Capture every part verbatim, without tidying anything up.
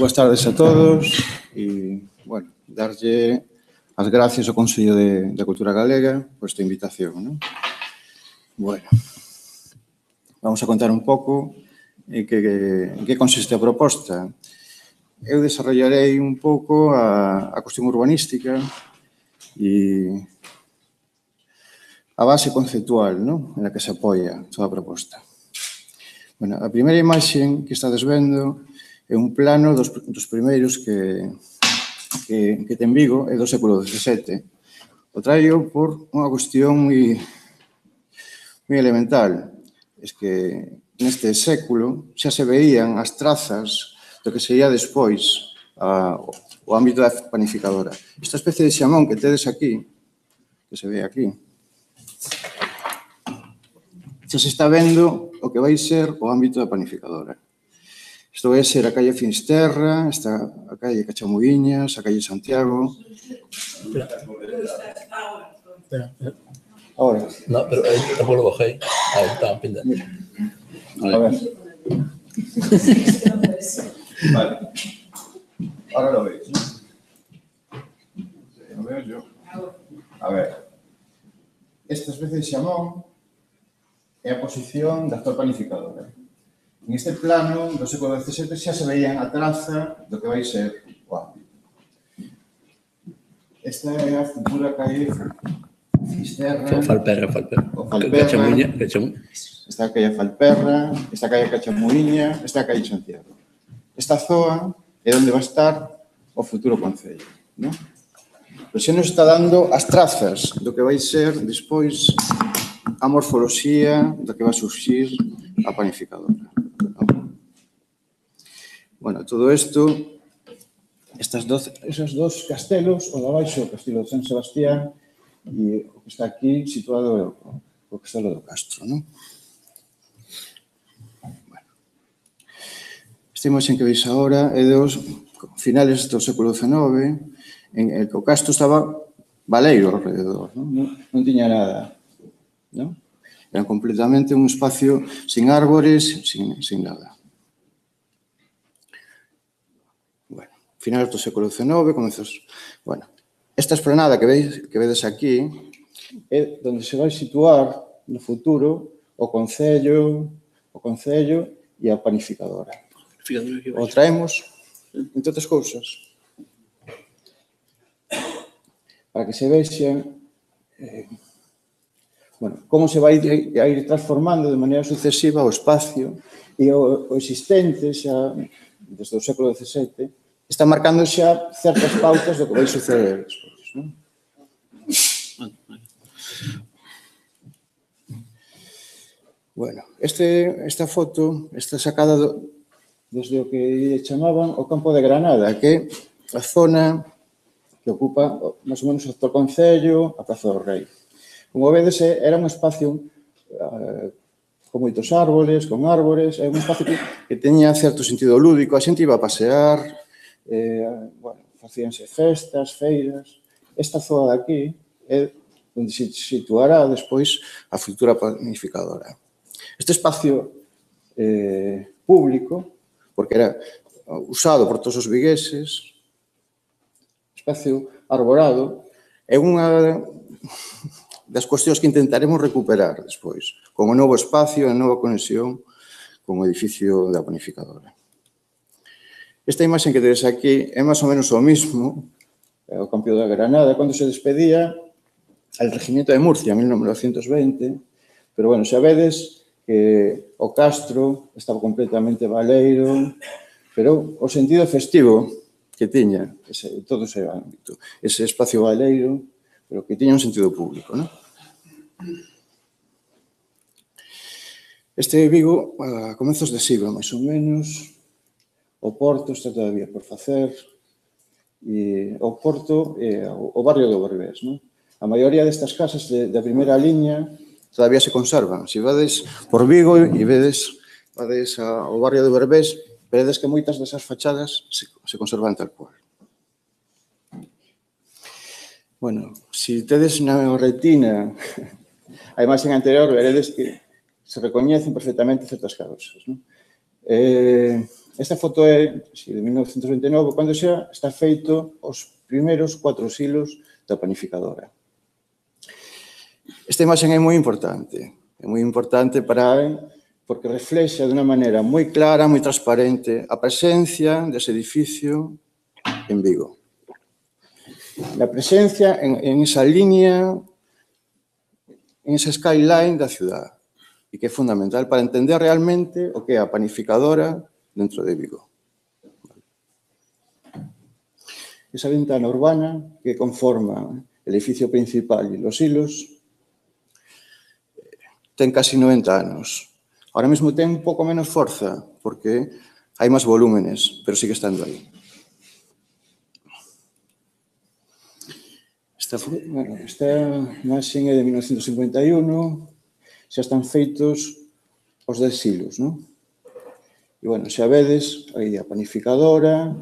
boas tardes a todos e, bueno, darlle as gracias ao Consello de, de Cultura Galega por esta invitación, non? Bueno, vamos a contar un pouco en que, en que consiste a proposta. Eu desarrollarei un pouco a, a cuestión urbanística e a base conceptual, non? En la que se apoia toda a proposta. Bueno, a primeira imaxe que estades vendo é un plano dos, dos primeiros que, que, que ten Vigo, é do século dezasete. O traio por unha cuestión moi, moi elemental. Es que neste século xa se veían as trazas do que sería despois a, o ámbito da panificadora. Esta especie de xamón que tedes aquí, que se ve aquí, xa se está vendo o que vai ser o ámbito da panificadora. Isto vai ser a calle Finisterra, está a calle Cachamuiñas, a calle Santiago. Espera. Espera, espera. Ahora. No, pero ahí tampoco lo bajé. Ahí estaba pendente. A ver. Vale. Ahora lo veis, ¿no? Lo veo yo. A ver. Esta especie de xamón é a posición da actual panificadora. En este plano do século dezasete xa se veían a traza do que vai ser o ámbito. Esta é a futura calle Finisterra. Falperra, Falperra. O Falperra. Cachamuiña, Cachamuiña. Esta é a calle Falperra, esta é a calle Cachamuiña, esta é a calle Santiago. Esta zoa é onde vai estar o futuro concello, non? Pero xa nos está dando as trazas do que vai ser despois a morfoloxía do que vai surxir a panificadora. Bueno, todo isto, estas doce, esos dos castelos, o de abaixo, o castelo de San Sebastián, e o que está aquí situado o castelo do Castro, non? Bueno. Esta imaxe que veis agora é dos finales do século dezenove, en el que o Castro estaba baleiro alrededor, non? Non, non tiña nada, non? Era completamente un espacio sin árbores, sin, sin nada. Bueno, finales do século dezenove, comezos... Bueno, esta esplanada que veis, que vedes aquí é onde se vai situar no futuro o Concello, o Concello e a panificadora. O traemos, entre outras cousas, para que se vexa eh, bueno, como se vai a ir transformando de maneira sucesiva o espacio e o, o existente xa desde o século dezasete está marcando xa certas pautas do que vai suceder despois, non? Bueno, este, esta foto está sacada do, desde o que chamaban o campo de Granada, que é a zona que ocupa máis ou menos o actual Concello, a Praza do Rei. Como vedes, era un espacio uh, con moitos árboles, con árbores, é un espacio que, que teña certo sentido lúdico, a xente iba a pasear, eh, bueno, facíanse festas, feiras. Esta zoa de aquí é onde se situará despois a futura panificadora. Este espacio eh, público, porque era usado por todos os vigueses, espacio arborado, é unha das cuestións que intentaremos recuperar despois, como novo espacio e nova conexión con o edificio da panificadora. Esta imaxe que tedes aquí é máis ou menos o mismo, o Campo de Granada, cando se despedía al Regimiento de Murcia, en mil novecientos veinte, pero, bueno, xa vedes que o Castro estaba completamente baleiro, pero o sentido festivo que tiña ese, todo ese ámbito, ese espacio baleiro, pero que tiña un sentido público, non? Este Vigo, a comezos de siglo, máis ou menos, o Porto está todavía por facer, e o Porto é o barrio do Berbés, non? A maioría destas casas de, da primeira liña todavía se conservan. Se vades por Vigo e vedes, vades ao barrio do Berbés, veredes que moitas desas fachadas se, se conservan tal cual. Bueno, se tedes na retina a imaxe anterior, veredes que se recoñecen perfectamente certas causas, non? Eh, esta foto é de mil novecentos vinte e nove, cando xa está feito os primeiros cuatro silos da panificadora. Esta imaxe é moi importante, é moi importante para, porque reflexa de unha maneira moi clara, moi transparente, a presencia dese edificio en Vigo. La presencia en, en esa línea, en esa skyline da ciudad, e que é fundamental para entender realmente o que é a panificadora dentro de Vigo. Esa ventana urbana que conforma el edificio principal e los hilos ten casi noventa anos. Ahora mesmo ten un pouco menos forza, porque hai máis volúmenes, pero sigue estando aí. Esta, bueno, esta imaxe é de mil novecentos cincuenta e un, xa están feitos os dez silos, non? E, bueno, xa vedes aí a panificadora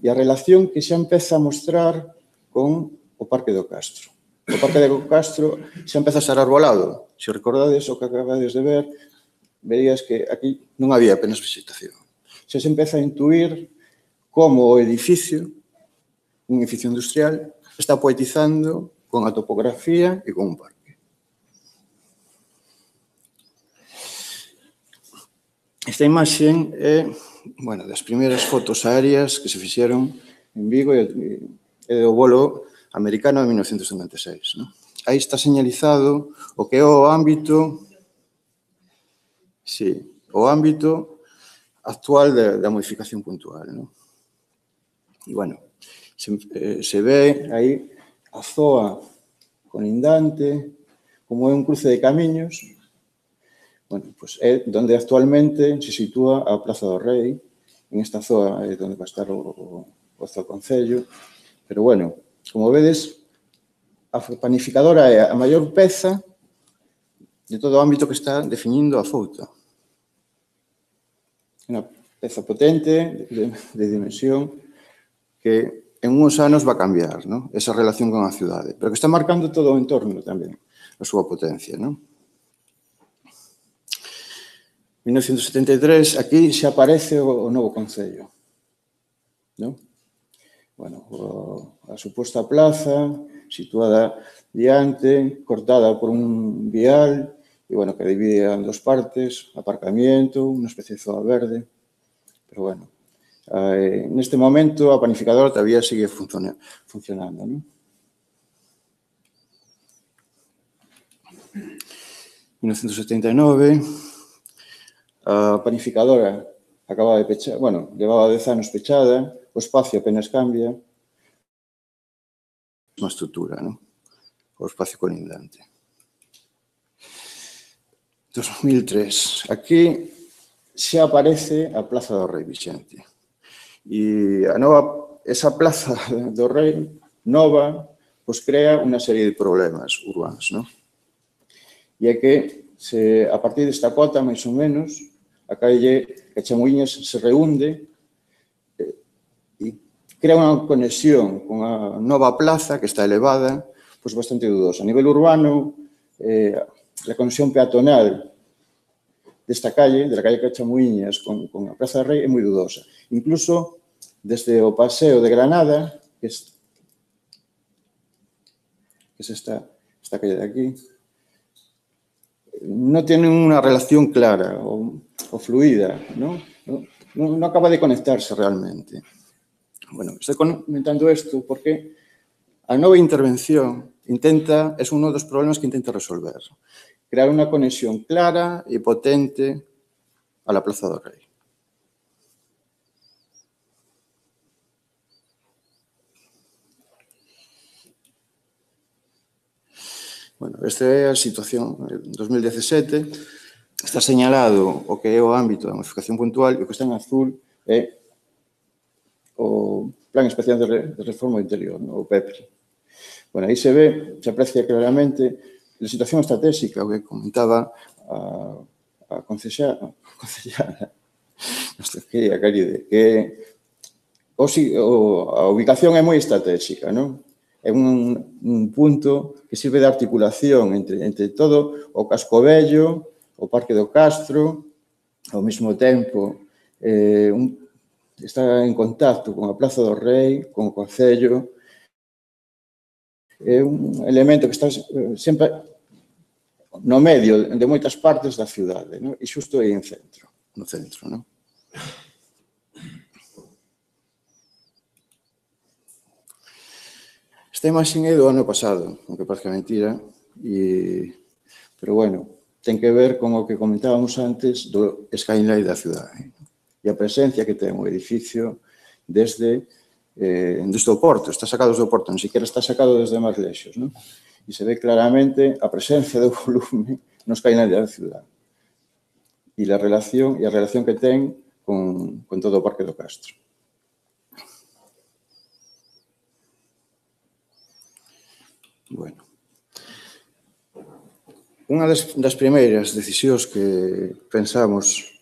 e a relación que xa empeza a mostrar con o Parque do Castro. O Parque do Castro xa empeza a ser arbolado. Se recordades o que acabades de ver, verías que aquí non había apenas vegetación. Xa se empeza a intuir como o edificio, un edificio industrial, está poetizando con a topografía e con un parque. Esta imaxe é, bueno, das primeiras fotos aéreas que se fixeron en Vigo e do volo americano de mil novecentos cincuenta e seis. ¿No? Aí está señalizado o que é o ámbito, sí, o ámbito actual da, da modificación puntual. ¿No? E, bueno, se, eh, se ve aí a zoa colindante, como é un cruce de camiños, bueno, pues é donde actualmente se sitúa a Plaza do Rei, en esta zoa é onde va a estar o, o, o Concello, pero, bueno, como vedes, a panificadora é a maior peza de todo o ámbito que está definindo a Fouta. Unha peza potente, de, de dimensión, que en uns anos va a cambiar, ¿no? Esa relación con a cidade, pero que está marcando todo o entorno tamén, a súa potencia, ¿no? mil novecentos setenta e tres, aquí xa aparece o, o novo Concello, ¿no? Bueno, o, a suposta plaza, situada diante, cortada por un vial, e, bueno, que divide en dos partes, aparcamiento, unha especie de zoa verde, pero, bueno, Eh, neste momento a panificadora todavía sigue funciona, funcionando. ¿No? mil novecentos setenta e nove, a panificadora acaba de pechar, bueno, levaba dez anos pechada, o espacio apenas cambia, unha estrutura, ¿no? O espacio colindante. dos mil tres, aquí xa aparece a Plaza do Rei Vixente. E a nova, esa Plaza do Rei nova, pois crea unha serie de problemas urbanos, non? E é que, se, a partir desta cota, máis ou menos, a calle Cachamuíñas se reúnde e crea unha conexión con a nova plaza, que está elevada, pois bastante dudosa. A nivel urbano, eh, a conexión peatonal desta calle, de la calle Cachamuíñas, con, con a Praza do Rei, é moi dudosa. Incluso, desde o Paseo de Granada, que, es, que es esta, esta calle de aquí, no tiene unha relación clara o, o fluida, ¿no? No, no, no acaba de conectarse realmente. Bueno, estoy comentando isto porque a nova intervención intenta, es uno dos problemas que intenta resolver. Crear unha conexión clara e potente a la Plaza do Rei. Bueno, esta é a situación en dos mil dezasete. Está señalado o que é o ámbito da modificación puntual e o que está en azul é o Plan Especial de Reforma Interior, o P E P R I. Bueno, aí se ve, se aprecia claramente a situación estratégica, o que comentaba a, a concejala, que a Caride, que o, a ubicación é moi estratégica, non? É un, un punto que sirve de articulación entre, entre todo o Casco Vello, o Parque do Castro, ao mesmo tempo, eh, un, está en contacto con a Praza do Rei, con o Concello. É un elemento que está sempre no medio de moitas partes da cidade, non? E xusto aí en centro, no centro, non? Esta imaxe é do ano pasado, aunque parece mentira, e, pero bueno, ten que ver con o que comentábamos antes do skyline da cidade e a presencia que ten o edificio desde, eh, desde o porto, está sacado do porto, non sequera está sacado desde máis lexos, non? E se ve claramente a presencia do volume no skyline da cidade e a relación, e a relación que ten con, con todo o Parque do Castro. Bueno, unha das, das primeiras decisións que pensamos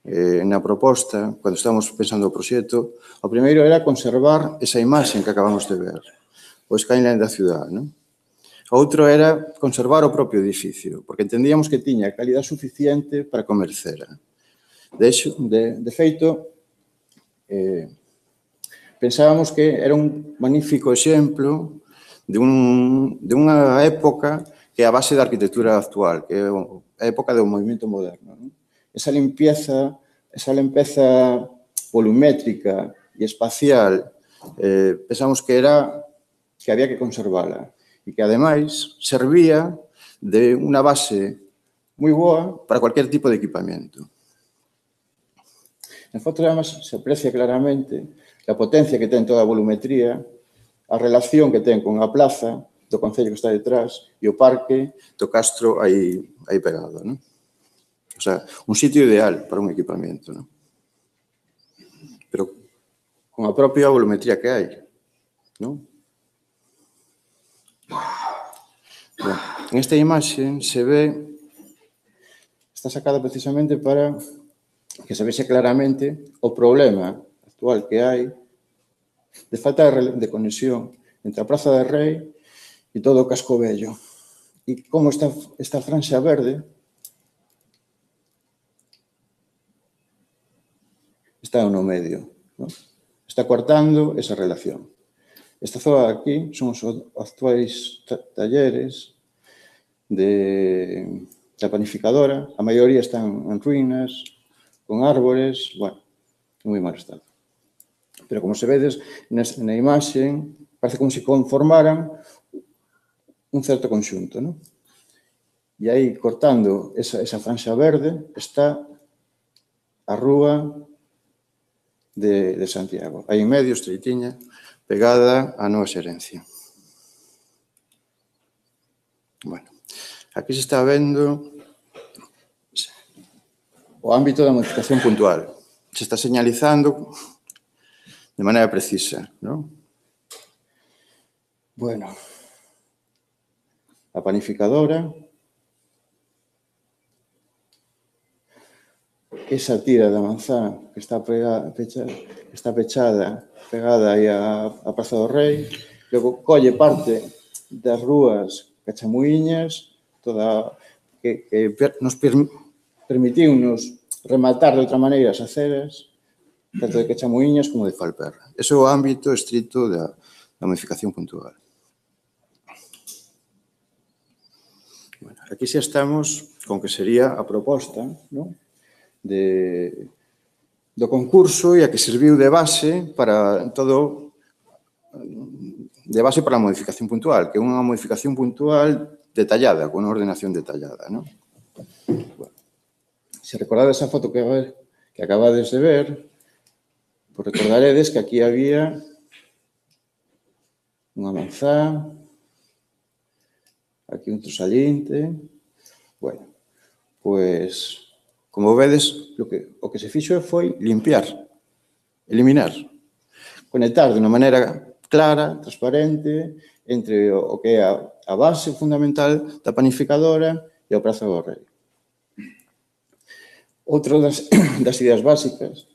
eh, na proposta, cando estamos pensando o proxecto, o primeiro era conservar esa imaxe que acabamos de ver, o skyline da cidade, non? Outro era conservar o propio edificio, porque entendíamos que tiña calidad suficiente para comer cera. De, hecho, de, de feito, eh, pensábamos que era un magnífico exemplo de, un, de unha época que é a base da arquitectura actual, que é a época do movimento moderno, non? Esa limpieza, esa limpeza volumétrica e espacial, eh, pensamos que era que había que conservala e que, ademais, servía de unha base moi boa para cualquier tipo de equipamento. En foto, además, se aprecia claramente a potencia que ten toda a volumetría, a relación que ten con a plaza do Concello que está detrás e o parque do Castro aí, aí pegado, non? O sea, un sitio ideal para un equipamento, non? Pero con a propia volumetría que hai, non? Bueno, en esta imaxe se ve, está sacada precisamente para que se vexe claramente o problema actual que hai de falta de conexión entre a Praza do Rei e todo o casco vello. E como esta, esta franxa verde está no medio, ¿no? Está cortando esa relación. Esta zona aquí son os actuais talleres de, da panificadora. A maioría están en ruínas, con árbores, bueno, en moi mal estado. Pero como se vedes na imaxe, parece como se conformaran un certo conxunto, non? E aí, cortando esa, esa franxa verde, está a rúa de, de Santiago. Aí en medio, estreitiña, pegada á nova xerencia. Bueno, aquí se está vendo o ámbito da modificación puntual. Se está señalizando de maneira precisa, non? Bueno, a panificadora, esa tira da manzá que está, pegada, pecha, está pechada, pegada aí a, a Praza do Rei, logo colle parte das rúas Cachamuíñas, toda, que, que nos per, permitiu-nos rematar de outra maneira as aceras, tanto de Cachamuíñas como de Falperra. Ese é o ámbito estrito da, da modificación puntual. Bueno, aquí xa estamos con que sería a proposta, ¿no?, de, do concurso e a que serviu de base para todo, de base para a modificación puntual, que é unha modificación puntual detallada, con unha ordenación detallada, ¿no? Bueno, se recordades esa foto que, que acabades de ver, pues recordaredes que aquí había unha manzá, aquí outro saliente. Bueno, pois, como vedes, o que, o que se fixo foi limpiar, eliminar, conectar de unha maneira clara, transparente, entre o que é a, a base fundamental da panificadora e a Praza do Rei. Outra das, das ideas básicas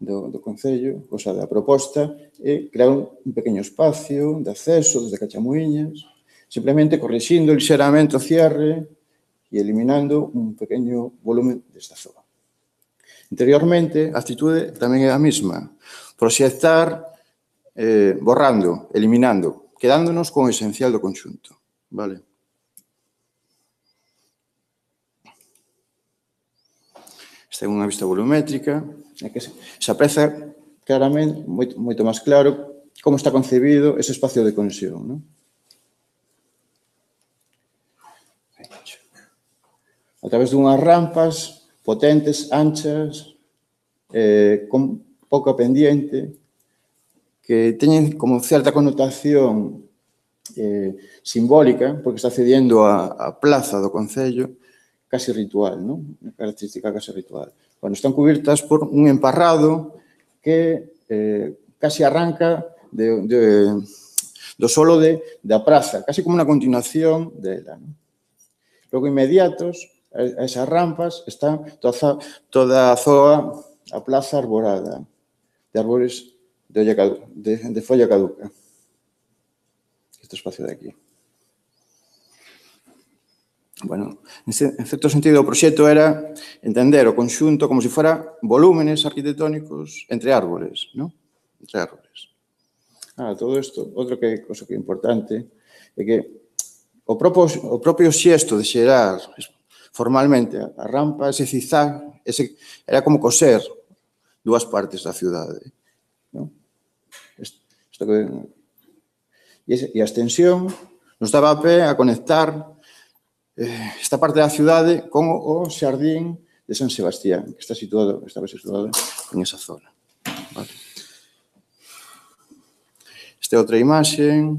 do, do Concello, o sea, da proposta, é crear un, un pequeno espacio de acceso desde Cachamuíñas, simplemente corrixindo lixeramente o cierre e eliminando un pequeno volumen desta zona. Interiormente, a actitude tamén é a mesma. Proxectar, eh, borrando, eliminando, quedándonos con o esencial do conxunto. Vale? Esta é unha vista volumétrica, é que se aprecia claramente, moito, moito máis claro, como está concebido ese espacio de conexión. Non? A través dunhas rampas potentes, anchas, eh, con pouca pendiente, que teñen como certa connotación eh, simbólica, porque está cediendo a, a plaza do Concello, casi ritual, non? Unha característica casi ritual. Bueno, están cubiertas por un emparrado que eh, casi arranca de, de, do solo de, da praza, casi como unha continuación dela. Non? Logo, inmediatos a esas rampas está toda, toda a zoa, a plaza arborada, de árbores de, olla, de, de folla caduca. Este espacio de aquí. Bueno, en certo sentido, o proxecto era entender o conxunto como se fora volúmenes arquitectónicos entre árboles, non? Entre árboles. Ah, todo isto, outro que, cosa que é importante, é que o propio, o propio xesto de xerar formalmente a rampa, ese zigzag, ese, era como coser dúas partes da cidade. Non? Isto, isto que, e, ese, e a extensión nos daba a pé a conectar esta parte da cidade con o xardín de San Sebastián, que está situado, estaba situado en esa zona. Vale. Esta é outra imaxe en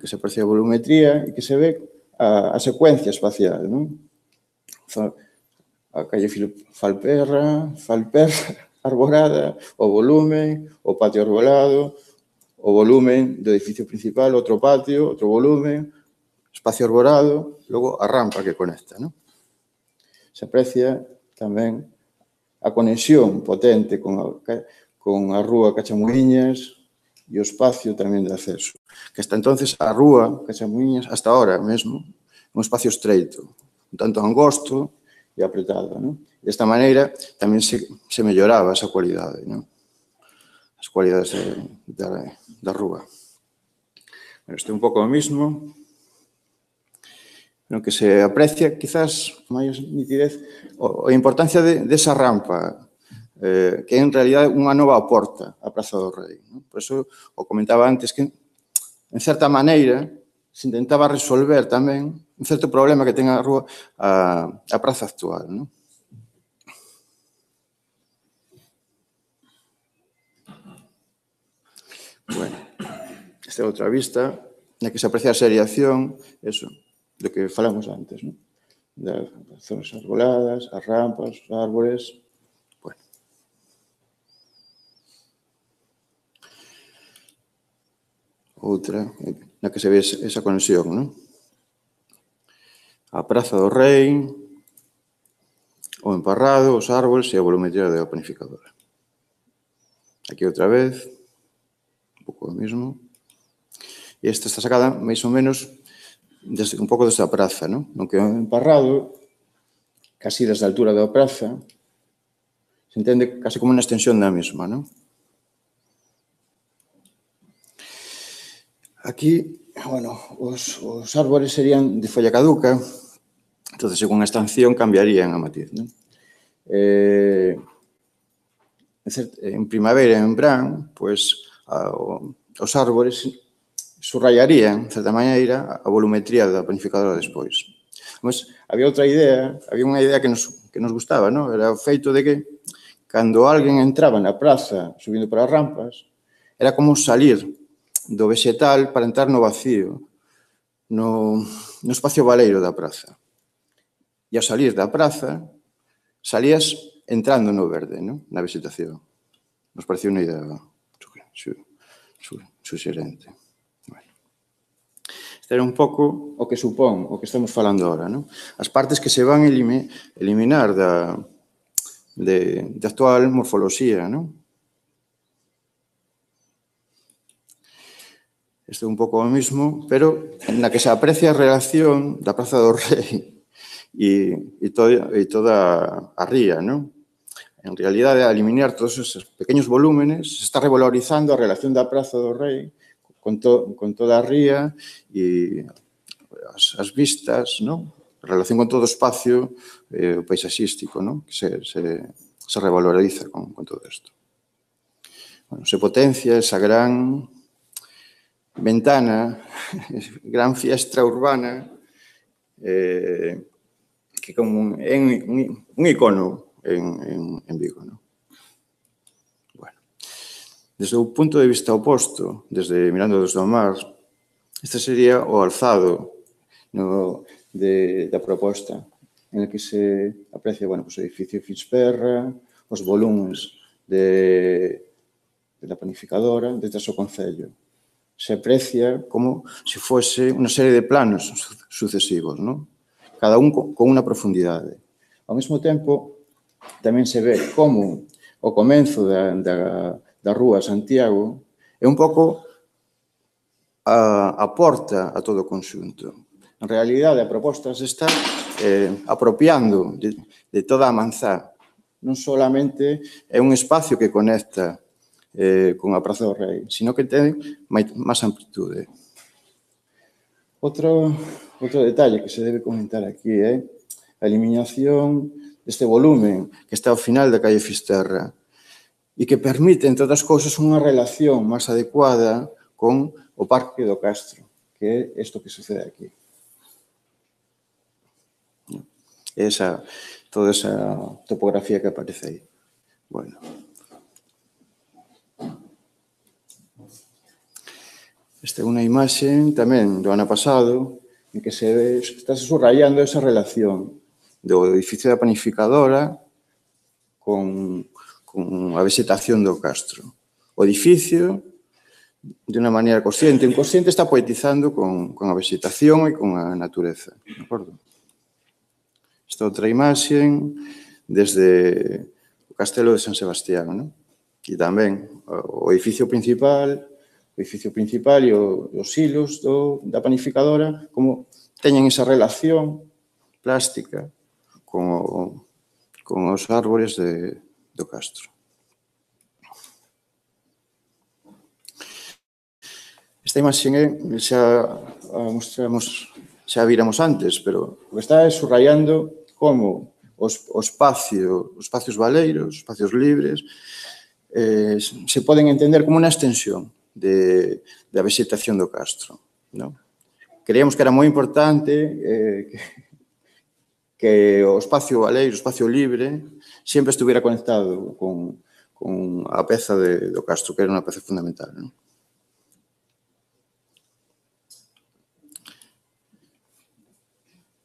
que se aprecia a volumetría e que se ve a, a secuencia espacial, non? A calle Falperra, Falperra, arborada, o volumen, o patio arbolado, o volumen do edificio principal, outro patio, outro volumen, espacio arborado, logo a rampa que conecta. Non? Se aprecia tamén a conexión potente con a, con a rúa Cachamuiñas e o espacio tamén de acceso. Que hasta entonces a rúa Cachamuiñas, hasta ahora mesmo, un espacio estreito, un tanto angosto e apretado. Non? Desta maneira tamén se, se melloraba esa cualidade, non? As cualidades de, da, da rúa. Bueno, este é un pouco o mismo, no que se aprecia, quizás, máis nitidez, a importancia de, de esa rampa, eh, que é en realidad unha nova porta á Praza do Rei. Non? Por eso, o comentaba antes, que, en certa maneira, se intentaba resolver tamén un certo problema que ten a rúa, a, a praza actual. Non? Bueno, esta é outra vista, na que se aprecia a seriación, eso, do que falamos antes, non? Das zonas arboladas, as rampas, os árboles. Bueno. Outra, na que se ve esa conexión, non? A Praza do Rei, o emparrado, os árboles e a volumetría da panificadora. Aquí outra vez, un pouco o mesmo. E esta está sacada, máis ou menos, desde, un pouco desde a praza, non? Non que o emparrado, casi desde a altura da praza, se entende casi como unha extensión da mesma, non? Aquí, bueno, os, os árboles serían de folla caduca, entonces, según a estación, cambiarían a matiz, non? Eh, en primavera e en verán, pois, a, o, os árboles subrayarían, de certa maneira, a volumetría da panificadora despois. Mas había outra idea, había unha idea que nos, que nos gustaba, non? Era o feito de que, cando alguén entraba na praza, subindo para as rampas, era como salir do vegetal para entrar no vacío, no, no espacio baleiro da praza. E ao salir da praza, salías entrando no verde, non? Na vegetación. Nos parecía unha idea suxerente. Este era un pouco o que supón, o que estamos falando agora, non? As partes que se van eliminar da, de, de actual morfoloxía, non? Este é un pouco o mismo, pero na que se aprecia a relación da Praza do Rei e, e, todo, e toda a ría, non? en realidade, a eliminar todos esos pequenos volúmenes, se está revalorizando a relación da Praza do Rei con, to, con toda a ría e as, as vistas, non? A relación con todo o espacio eh, paisaxístico, non? Que se, se, se revaloriza con, con todo isto. Bueno, se potencia esa gran ventana, gran fiestra urbana, eh, que como un, un, un icono en, en, en Vigo, non? Bueno, desde o punto de vista oposto, desde mirando desde o mar, este sería o alzado no, de, da proposta, en el que se aprecia, bueno, pues, o edificio Fitzperra, os volúmenes de, de la panificadora, desde o concello. Se aprecia como se fose unha serie de planos sucesivos, non? Cada un con unha profundidade. Ao mesmo tempo, tamén se ve como o comenzo da, da, da Rúa Santiago é un pouco a, a porta a todo o conxunto. En realidade, a proposta se está eh, apropiando de, de toda a manzá. Non solamente é un espacio que conecta eh, con a Praza do Rei, sino que ten máis amplitude. Outro, outro detalle que se debe comentar aquí é a eliminación deste volumen que está ao final da calle Fisterra e que permite, entre outras cousas, unha relación máis adecuada con o Parque do Castro, que é isto que sucede aquí. Esa, toda esa topografía que aparece aí. Bueno. Esta é unha imaxe tamén do ano pasado en que se ve, está subrayando esa relación do edificio da panificadora con, con a vegetación do Castro. O edificio, de unha maneira consciente, inconsciente, está poetizando con, con a vegetación e con a natureza. De acordo? Esta outra imaxe desde o Castelo de San Sebastián, non? E tamén o edificio principal, o edificio principal e os silos do, da panificadora, como teñen esa relación plástica con, o, con os árbores de, do Castro. Esta imaxe é, xa a mostramos, xa viramos antes, pero o que está é subrayando como os, o espacio, os espacios baleiros, os espacios libres, eh, se poden entender como unha extensión de, da vegetación do Castro. Non? Creíamos que era moi importante eh, que, que o espacio baleiro, o espacio libre, sempre estuviera conectado con, con a peza de, do Castro, que era unha peza fundamental. Non?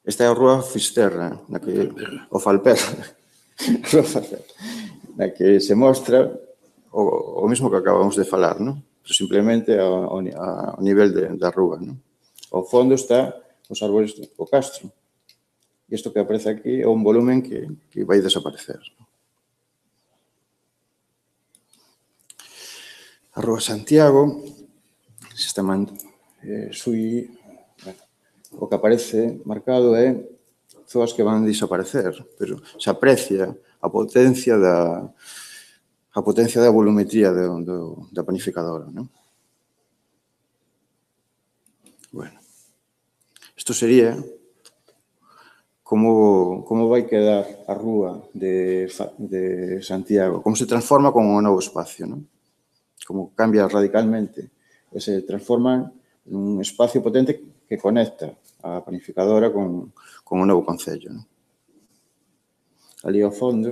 Esta é a Rúa Fisterra, na que, o Falperra, na que se mostra o, o mesmo que acabamos de falar, non? Pero simplemente ao, ao nivel de, da rúa, non? Ao fondo está os árbores do Castro. E isto que aparece aquí é un volumen que, que vai desaparecer. A Rúa Santiago, se está man, eh, sui, bueno, o que aparece marcado é zoas que van desaparecer, pero se aprecia a potencia da a potencia da volumetría do, do, da panificadora, non? Bueno, isto sería como, como vai quedar a rúa de, de Santiago, como se transforma con un novo espacio, non? Como cambia radicalmente, e se transforma nun espacio potente que conecta a panificadora con, con un novo concello, non? Ali ao fondo,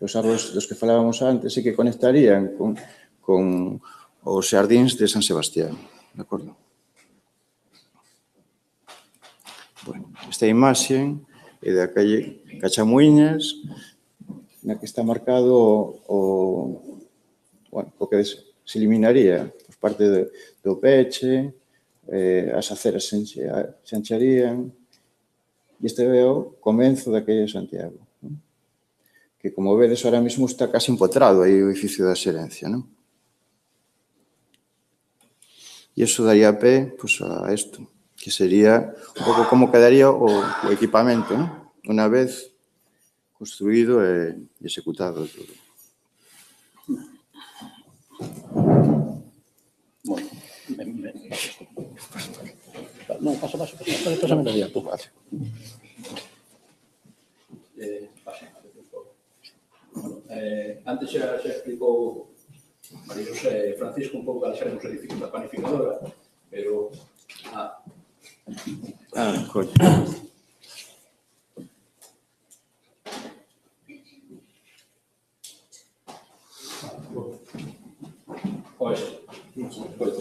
os árbores dos que falábamos antes e que conectarían con, con os xardíns de San Sebastián, de acordo? Bueno, esta imaxe é da calle Cachamuiñas, na que está marcado o, bueno, o que se eliminaría por parte de, do peche, eh, as aceras se, se ancharían, e este é o comenzo da calle Santiago, non? Que, como vedes, ahora mesmo está casi empotrado aí o edificio da xerencia, non? E iso daría pé, pues, a isto, que sería un pouco como quedaría o, o equipamento, non? Unha vez construído e executado todo. Bueno, non, pasa, pasa, pasa, pasa menos día, tú. Vale. Eh, pasa, bueno, eh, antes xa, xa explicou María José Francisco un pouco cales eran os edificios da panificadora, pero... Ah, Ah, coño. Pois, pois,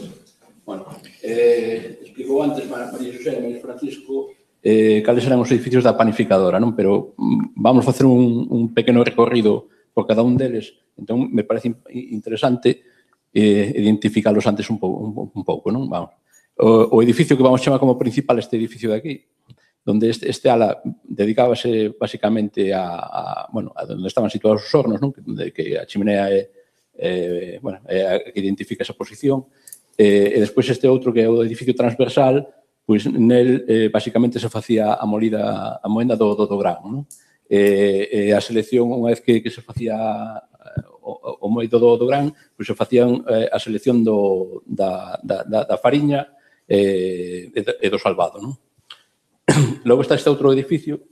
bueno, eh, explicou antes María José e María Francisco eh, cales eran os edificios da panificadora, non? Pero mm, vamos facer un, un pequeno recorrido por cada un deles. Entón, me parece interesante eh, identificalos antes un pouco, un, un pouco, non? Vamos. O, o edificio que vamos chamar como principal este edificio de aquí, donde este, este ala dedicábase basicamente a, a, bueno, a donde estaban situados os hornos, non? De que a chimenea é, eh, bueno, é a que identifica esa posición. Eh, e despois este outro que é o edificio transversal, pois nel eh, basicamente se facía a molida, a moenda do, do, do grano, non? E, e a selección, unha vez que, que se facía o, o moito do, do gran, pois se facían eh, a selección do, da, da, da fariña e, e do salvado, non? Logo está este outro edificio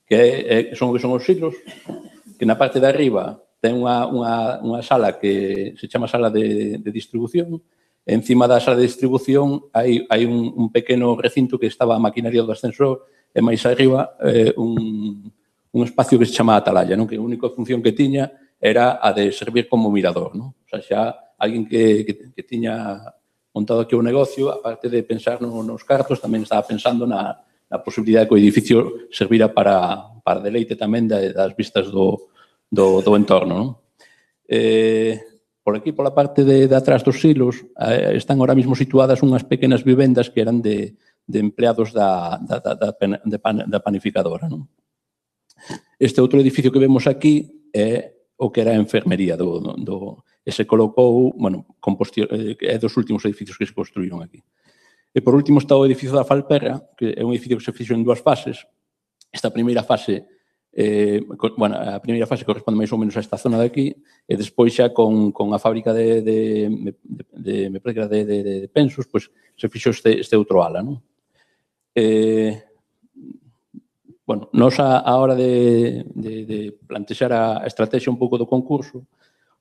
que é, son, que son os siglos, que na parte de arriba ten unha, unha, unha sala que se chama sala de, de distribución. Encima da sala de distribución hai, hai un, un pequeno recinto que estaba a maquinaria do ascensor e máis arriba eh, un, un espacio que se chama atalaya, non? Que a única función que tiña era a de servir como mirador, non? O sea, xa alguén que, que, que tiña montado aquí o negocio, aparte de pensar no, nos cartos, tamén estaba pensando na, na posibilidade que o edificio servira para, para deleite tamén das vistas do, do, do entorno, non? Eh, por aquí, pola parte de, de atrás dos silos, eh, están ahora mismo situadas unhas pequenas vivendas que eran de, de empleados da, da, da, da, de pan, da panificadora, non? Este outro edificio que vemos aquí é o que era a enfermería do, do, do e se colocou, bueno, é dos últimos edificios que se construíron aquí. E por último está o edificio da Falperra, que é un edificio que se fixo en dúas fases. Esta primeira fase, eh, bueno, a primeira fase corresponde máis ou menos a esta zona de aquí, e despois xa con, con a fábrica de, de, de, de, me parece de, de, de pensos, pois se fixo este, este outro ala, non? Eh, bueno, nos a, a hora de, de, de plantexar a estrategia un pouco do concurso,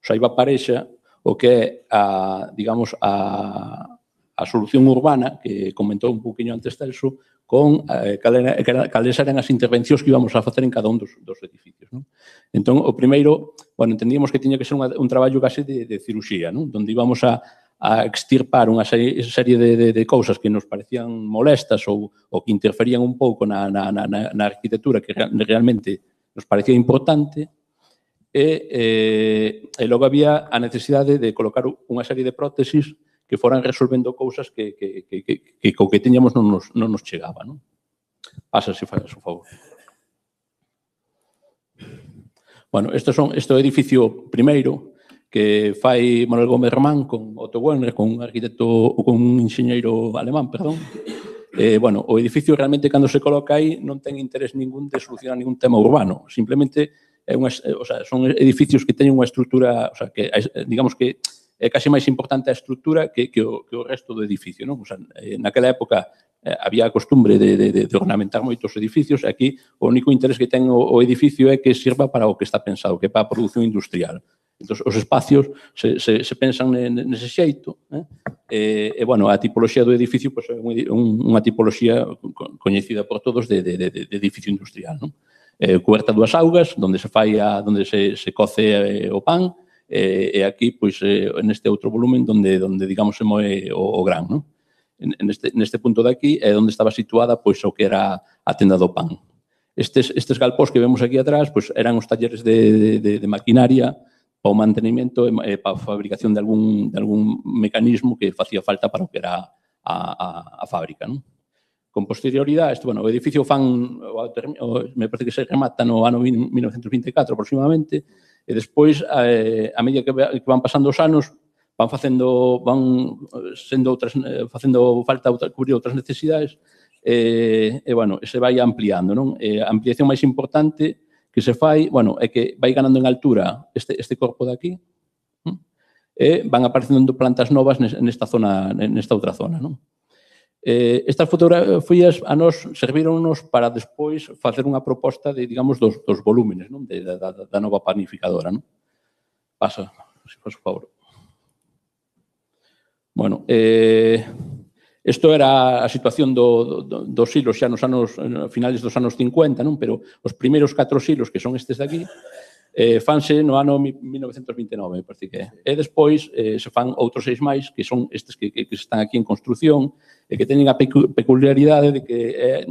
saiba parexa o que é a, digamos, a, a solución urbana, que comentou un poquinho antes Celso, con eh, cales eran as intervencións que íbamos a facer en cada un dos, dos edificios, non? Entón, o primeiro, bueno, entendíamos que tiña que ser unha, un traballo case de, de ciruxía, non? Donde íbamos a, a extirpar unha serie, serie de, de, de cousas que nos parecían molestas ou, ou que interferían un pouco na, na, na, na arquitectura que realmente nos parecía importante. E, eh, e logo había a necesidade de colocar unha serie de prótesis que foran resolvendo cousas que, que, que, que, que co que tiñamos non nos, non nos chegaba, non? Pasa, se faz o favor. Bueno, este, son, este é o edificio primeiro que fai Manuel Gómez Román con Otto Werner, con un arquitecto ou con un enxeñeiro alemán, perdón. Eh, bueno, o edificio realmente cando se coloca aí non ten interés ningún de solucionar ningún tema urbano, simplemente é unha, o sea, son edificios que teñen unha estrutura, o sea, que digamos que é case máis importante a estrutura que, que, o, que o resto do edificio, non? O sea, naquela época eh, había a costumbre de, de, de ornamentar moitos edificios, e aquí o único interés que ten o, o edificio é que sirva para o que está pensado, que é para a produción industrial. Entón, os espacios se, se, se pensan nese xeito, eh? E, e, bueno, a tipoloxía do edificio pois, é unha tipoloxía coñecida por todos de, de, de, de edificio industrial, non? Eh, coberta dúas augas, onde se fai a, onde se, se coce eh, o pan, eh, e aquí, pois, eh, neste outro volumen, onde, onde digamos, se moe o, o gran, non? Neste, neste punto de aquí é onde estaba situada, pois, o que era a tenda do pan. Estes, estes galpós que vemos aquí atrás, pois, eran os talleres de, de, de maquinaria para o mantenimento e para a fabricación de algún, de algún mecanismo que facía falta para o que era a, a, a fábrica, non? Con posterioridade, este, bueno, o edificio fan, o, o, me parece que se remata no ano mil novecentos vinte e catro aproximadamente, e despois, eh, a medida que, que van pasando os anos, van facendo, van sendo outras, facendo falta outra, cubrir outras necesidades, e, e, bueno, se vai ampliando, non? E a ampliación máis importante que se fai, bueno, é que vai ganando en altura este, este corpo de aquí, e van aparecendo plantas novas nesta zona, nesta outra zona, non? Eh, estas fotografías a nos servíronnos para despois facer unha proposta de, digamos, dos, dos volúmenes, non? De, da, da nova panificadora, non? Pasa, se faz o favor. Bueno, eh, isto era a situación do, do, dos silos xa nos anos, finales dos anos cincuenta, non? Pero os primeiros catro silos, que son estes de aquí, eh, fanse no ano mil novecentos vinte e nove, me parece que é. E despois eh, se fan outros seis máis, que son estes que, que, que están aquí en construción, e que teñen a peculiaridade de que eh,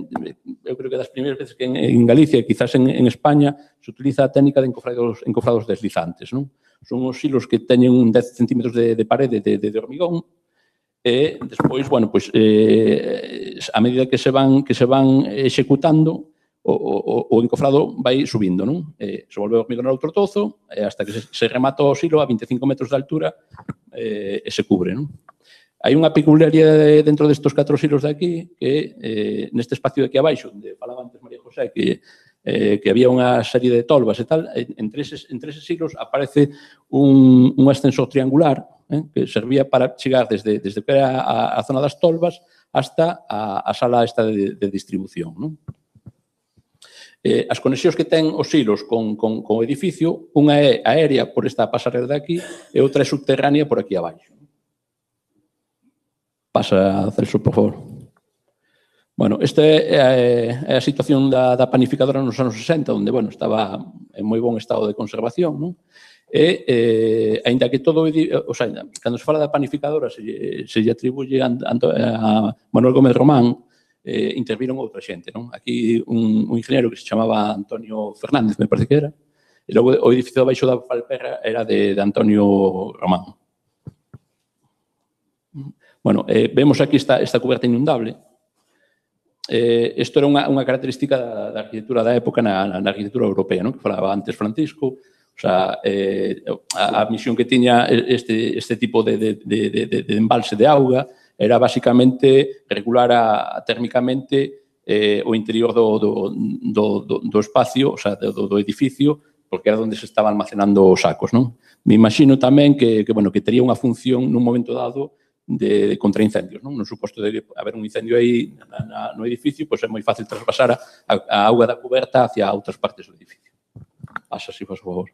eu creo que das primeiras veces que en, en Galicia e quizás en, en España se utiliza a técnica de encofrados, encofrados deslizantes, non? Son os silos que teñen dez centímetros de, de parede de, de, de hormigón e despois, bueno, pois, eh, a medida que se van, que se van executando, o, o, o encofrado vai subindo, non? Eh, se volve a hormigonar outro tozo eh, hasta que se, se remata o silo a vinte e cinco metros de altura eh, e se cubre, non? Hai unha peculiaridade dentro destes catro silos de aquí que eh, neste espacio de aquí abaixo, onde falaba antes María José, que, eh, que había unha serie de tolvas e tal, entre eses, entre eses silos aparece un, un ascensor triangular eh, que servía para chegar desde, desde que era a, a zona das tolvas hasta a, a sala esta de, de distribución, non? Eh, as conexións que ten os silos con, con, con o edificio, unha é aérea por esta pasarela de aquí e outra é subterránea por aquí abaixo. Pasa, Celso, por favor. Bueno, esta é, é a situación da, da panificadora nos anos sesenta, onde, bueno, estaba en moi bon estado de conservación, non? E, eh, ainda que todo, o sea, cando se fala da panificadora, se, se lle atribuye a, a Manuel Gómez Román, eh, interviron outra xente, non? Aquí un, un ingeniero que se chamaba Antonio Fernández, me parece que era, e logo o edificio abaixo da Palperra era de, de Antonio Román. Bueno, eh, vemos aquí esta, esta cuberta inundable. Eh, isto era unha, unha característica da, da arquitectura da época na, na arquitectura europea, non? Que falaba antes Francisco, o sea, eh, a, a misión que tiña este, este tipo de, de, de, de, de embalse de auga era basicamente regular a, a térmicamente eh, o interior do, do, do, do, do espacio, o sea, do, do edificio, porque era onde se estaban almacenando os sacos, non? Me imagino tamén que, que, bueno, que tería unha función nun momento dado de, de contraincendios, non? No suposto de haber un incendio aí na, na, no edificio, pois é moi fácil traspasar a, a auga da coberta hacia outras partes do edificio. Pasa, si faz o favor.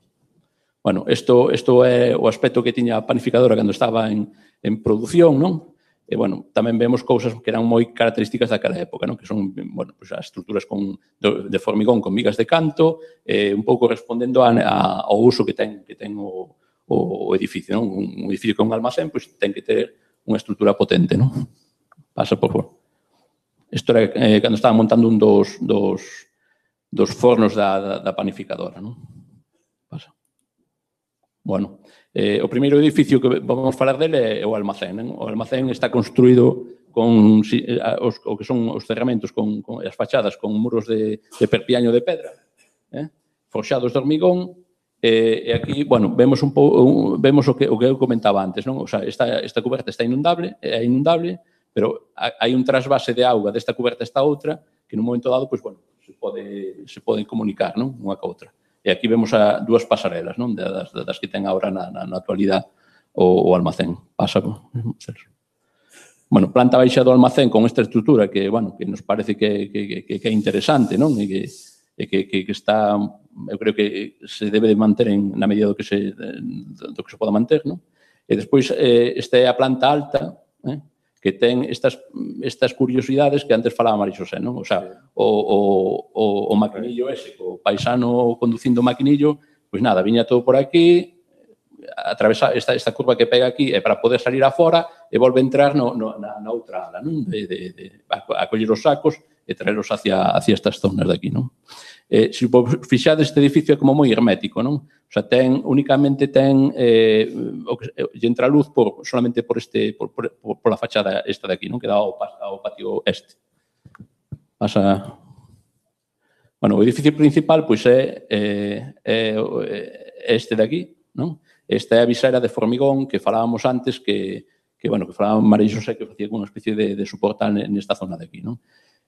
Bueno, isto, isto é o aspecto que tiña a panificadora cando estaba en, en produción, non? E, bueno, tamén vemos cousas que eran moi características daquela época, non? Que son, bueno, pues, as estruturas con, de, de formigón con vigas de canto, eh, un pouco respondendo a, a, ao uso que ten, que ten o, o, o edificio, non? Un, un edificio con un almacén, pois, ten que ter unha estrutura potente, non? Pasa, por favor. Isto era eh, cando estaban montando un dos, dos, dos fornos da, da, da panificadora, non? Pasa. Bueno, eh, o primeiro edificio que vamos falar dele é o almacén, non? O almacén está construído con os, o que son os cerramentos, con, con as fachadas con muros de, de perpiaño de pedra, eh? Forxados de hormigón, e, e aquí, bueno, vemos un pouco, vemos o que, o que eu comentaba antes, non? O sea, esta, esta cuberta está inundable, é inundable, pero hai un trasvase de auga desta cuberta a esta outra, que nun momento dado, pois, bueno, se pode, se poden comunicar, non? Unha ca outra. E aquí vemos a dúas pasarelas, non? Das, das que ten agora na, na, na actualidade o, o almacén. Pasa, bueno, planta baixa do almacén con esta estrutura que, bueno, que nos parece que, que, que, que é interesante, non? E que, e que, que, que está, eu creo que se debe de manter en, na medida do que se, do que se poda manter, non? E despois, eh, esta é a planta alta, eh? Que ten estas, estas curiosidades que antes falaba María Xosé, non? O sea, o, o, o, o maquinillo ese, o paisano conducindo o maquinillo, pois nada, viña todo por aquí, atravesa esta, esta curva que pega aquí é para poder salir afora e volve a entrar no, no, na, na outra ala, non? De, de, de, a, a coller os sacos e traerlos hacia, hacia estas zonas de aquí, non? Eh, se fixades, este edificio é como moi hermético, non? O sea, ten, únicamente ten, eh, o que, entra a luz por, solamente por este, por, por, por la fachada esta de aquí, non? Que dá ao, ao patio este. Pasa... Bueno, o edificio principal, pois, é, é, é este de aquí, non? Esta é a visera de formigón que falábamos antes, que, que bueno, que falaba María Xosé, que facía unha especie de, de soportal nesta zona de aquí, non?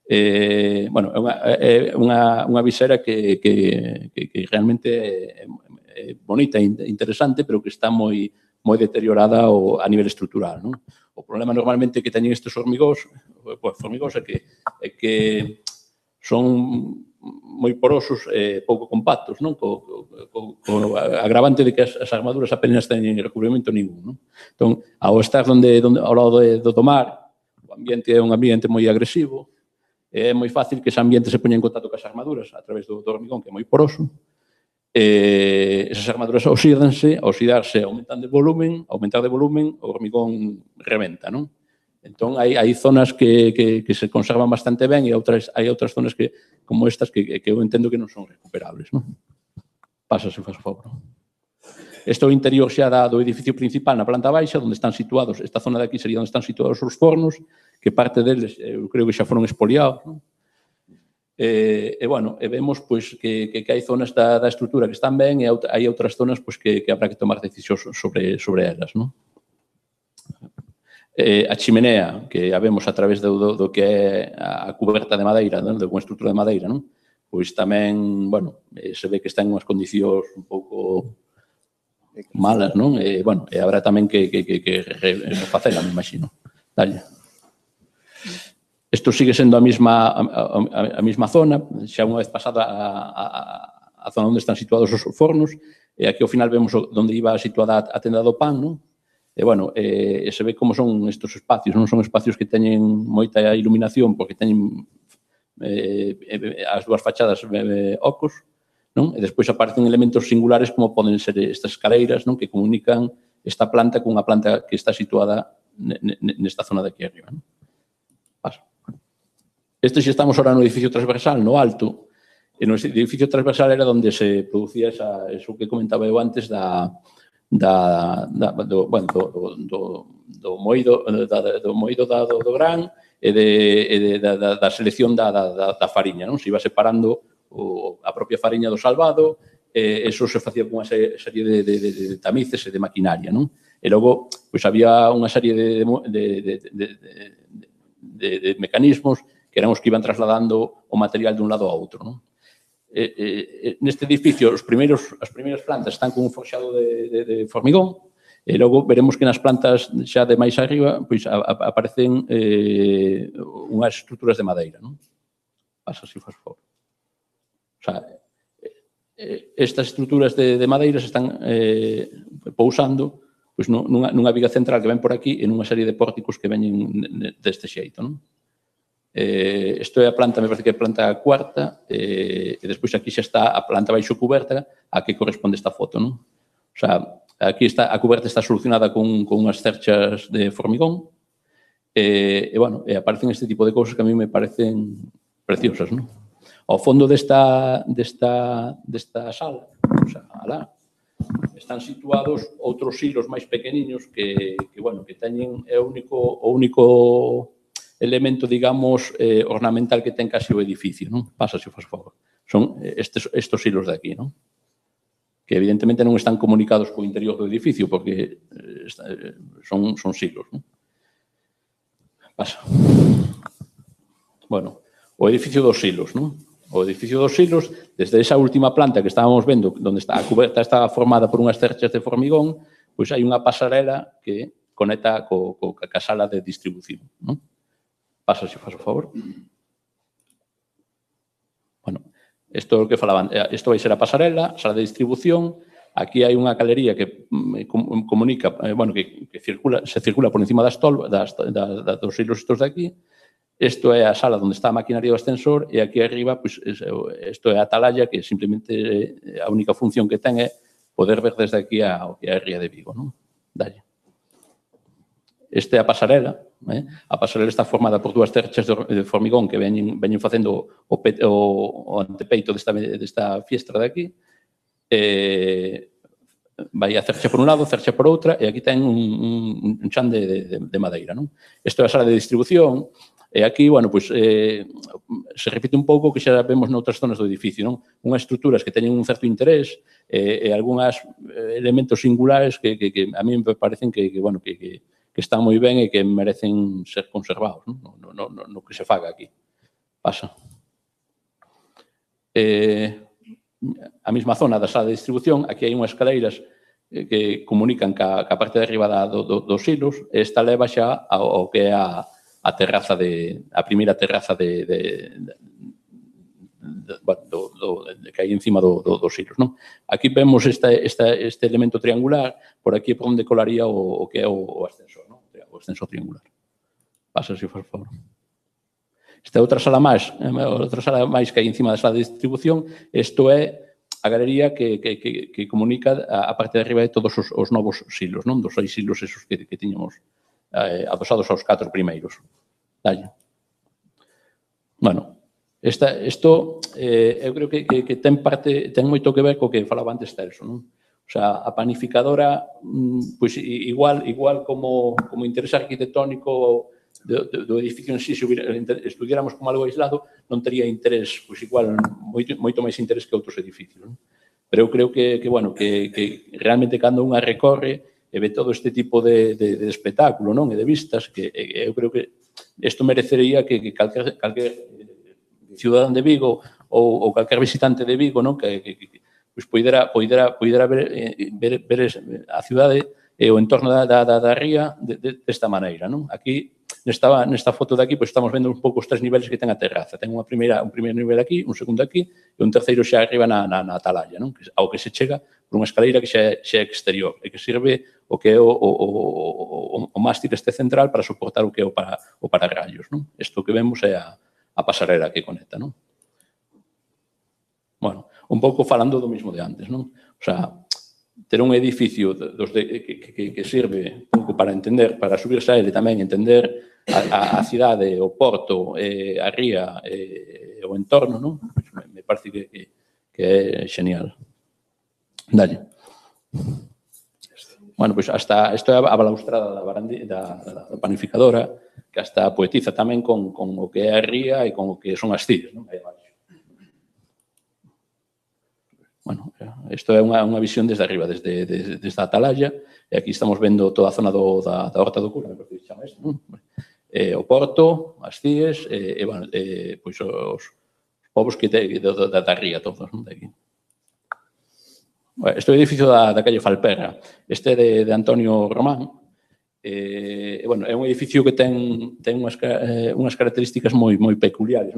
Eh, bueno, é unha, é unha, unha visera que, que, que, que realmente é, é bonita e interesante, pero que está moi, moi deteriorada o, a nivel estrutural, non? O problema normalmente que teñen estes hormigós, pues, formigós é que, é que son moi porosos e eh, pouco compactos, non? Co, co, co agravante de que as, as armaduras apenas teñen recubrimento ningún, non? Entón, ao estar donde, donde, ao lado de, do mar, o ambiente é un ambiente moi agresivo, é moi fácil que ese ambiente se poña en contacto con as armaduras a través do, do hormigón, que é moi poroso, e esas armaduras oxídanse, oxidarse, aumentan de volumen, aumentar de volumen, o hormigón reventa, non? Entón, hai, hai zonas que, que, que se conservan bastante ben e outras, hai outras zonas que, como estas que, que eu entendo que non son recuperables. Non? Pasa, se faz o favor. Este é o interior xa da, do edificio principal na planta baixa, onde están situados, esta zona de aquí sería onde están situados os fornos, que parte deles, eu creo que xa foron expoliados. Non? E, e, bueno, e vemos pois, que, que, que hai zonas da, da estrutura que están ben e hai outras zonas pois, que, que habrá que tomar decisións sobre, sobre elas. Non? Eh, a chimenea, que a vemos a través do, do, do que é a cuberta de madeira, non? De unha estrutura de madeira, non? Pois tamén, bueno, eh, se ve que está en unhas condicións un pouco malas, non? E, bueno, e habrá tamén que, que, que, que refacela, me imagino. Dalle. Isto sigue sendo a mesma, a, a, a mesma zona, xa unha vez pasada a, a, a zona onde están situados os fornos, e aquí ao final vemos onde iba situada a tenda do pan, non? E, bueno, eh, se ve como son estes espacios, non son espacios que teñen moita iluminación porque teñen eh, as dúas fachadas eh, ocos, non? E despois aparecen elementos singulares como poden ser estas escaleiras, non? Que comunican esta planta cunha planta que está situada nesta zona de aquí arriba. Non? Paso. Este xa estamos ahora no edificio transversal, no alto, e no edificio transversal era onde se producía esa, eso que comentaba eu antes da... Da, da, do, bueno, do, do, do moído, da, do, moído da, do, do gran e, de, e de, da, da selección da, da, da fariña. Non? Se iba separando o, a propia fariña do salvado, e eso se facía con unha serie de, de, de, de tamices e de maquinaria. Non? E logo, pois, había unha serie de, de, de, de, de, de, de mecanismos que eran os que iban trasladando o material dun lado a outro. Non? Eh, eh, neste edificio, os primeiros, as primeiras plantas están con un forxado de, de, de formigón, e logo veremos que nas plantas xa de máis arriba pois, a, a, aparecen eh, unhas estruturas de madeira. Non? Pasa, se faz favor. O sea, eh, estas estruturas de, de madeira se están eh, pousando pois, nunha, nunha viga central que ven por aquí e nunha serie de pórticos que veñen deste xeito. Non? Eh, isto é a planta, me parece que é a planta cuarta, eh, e despois aquí xa está a planta baixo cuberta a que corresponde esta foto, non? O sea, aquí está, a cuberta está solucionada con, con unhas cerchas de formigón, e, e, bueno, e aparecen este tipo de cousas que a mí me parecen preciosas, non? Ao fondo desta, desta, desta sala, o sea, alá, están situados outros silos máis pequeniños que, que bueno, que teñen é o único, o único elemento, digamos, eh, ornamental que ten casi o edificio, non? Pasa, se faz favor. Son estes, estos hilos de aquí, non? Que evidentemente non están comunicados co interior do edificio porque eh, son, son silos, non? Pasa. Bueno, o edificio dos silos, non? O edificio dos silos, desde esa última planta que estábamos vendo, onde está a cuberta está formada por unhas cerchas de formigón, pois hai unha pasarela que conecta co, co, ca sala de distribución, non? Pasa, se faz o favor. Bueno, isto é o que falaban. Isto vai ser a pasarela, a sala de distribución. Aquí hai unha galería que comunica, bueno, que, que circula, se circula por encima das tolvas, das, das, das, dos hilos estos de aquí. Isto é a sala onde está a maquinaria do ascensor e aquí arriba, pues, isto é a atalaya que simplemente a única función que ten é poder ver desde aquí ao que é a Ría de Vigo, non? Dalle. Este é a pasarela. Eh? A pasarela está formada por dúas cerchas de formigón que veñen, veñen facendo o, pe, o, o antepeito desta, desta fiestra de aquí. Eh, vai a cercha por un lado, cercha por outra, e aquí ten un, un, un chan de, de, de madeira. Non? Isto é a sala de distribución, e aquí, bueno, pues, eh, se repite un pouco que xa vemos noutras zonas do edificio, non? Unhas estruturas que teñen un certo interés eh, e algúns elementos singulares que, que, que a mí me parecen que, que bueno, que, que que están moi ben e que merecen ser conservados, non? No, no, no, no que se faga aquí. Pasa. A mesma zona da sala de distribución, aquí hai unhas escaleiras que comunican ca parte de arriba dos silos, e esta leva xa ao que é a terraza de, a primeira terraza de que hai encima dos silos. Aquí vemos este elemento triangular, por aquí é por onde colaría o que é o ascensor, o ascensor triangular. Pasa, se for favor. Esta é outra sala máis, outra sala máis que hai encima da sala de distribución. Isto é a galería que comunica a parte de arriba de todos os novos silos, dos seis silos esos que tiñamos adosados aos catro primeiros. Dalle. Bueno, isto eu creo que ten parte, ten moito que ver co que falaba antes Celso, non? O sea, a panificadora, pois igual como interés arquitectónico do edificio en sí, se estudiáramos como algo aislado, non tería interés, pois igual, moito máis interés que outros edificios. Pero eu creo que, bueno, que realmente cando unha recorre e ve todo este tipo de espectáculo e de vistas, que eu creo que isto merecería que calquer ciudadán de Vigo ou calquer visitante de Vigo que poidera ver a cidade e o entorno da ría desta maneira. Aquí, nesta foto de aquí, estamos vendo un pouco os tres niveles que ten a terraza. Ten un primeiro nivel aquí, un segundo aquí e un terceiro xa arriba na atalaya, ao que se chega por unha escaleira que xa é exterior e que sirve o que é o mástil este central para soportar o que é o pararrayos. Isto que vemos é a pasarela que conecta. Bueno, un pouco falando do mismo de antes. O sea, ter un edificio que sirve un pouco para entender, para subirse a ele tamén, entender a cidade, o porto, a ría e o entorno, me parece que é xenial. Dalle. Bueno, pois hasta, isto é a balaustrada da panificadora, que hasta poetiza tamén con o que é a ría e con o que son as cíes, non? Aí abaixo. Bueno, isto é unha visión desde arriba, desde a atalaya, e aquí estamos vendo toda a zona da Horta do Cura, que se chama isto, non? O porto, as cíes, e os povos da ría todos, non? Este é o edificio da calle Falperra. Este é de Antonio Román. É un edificio que ten unhas características moi peculiares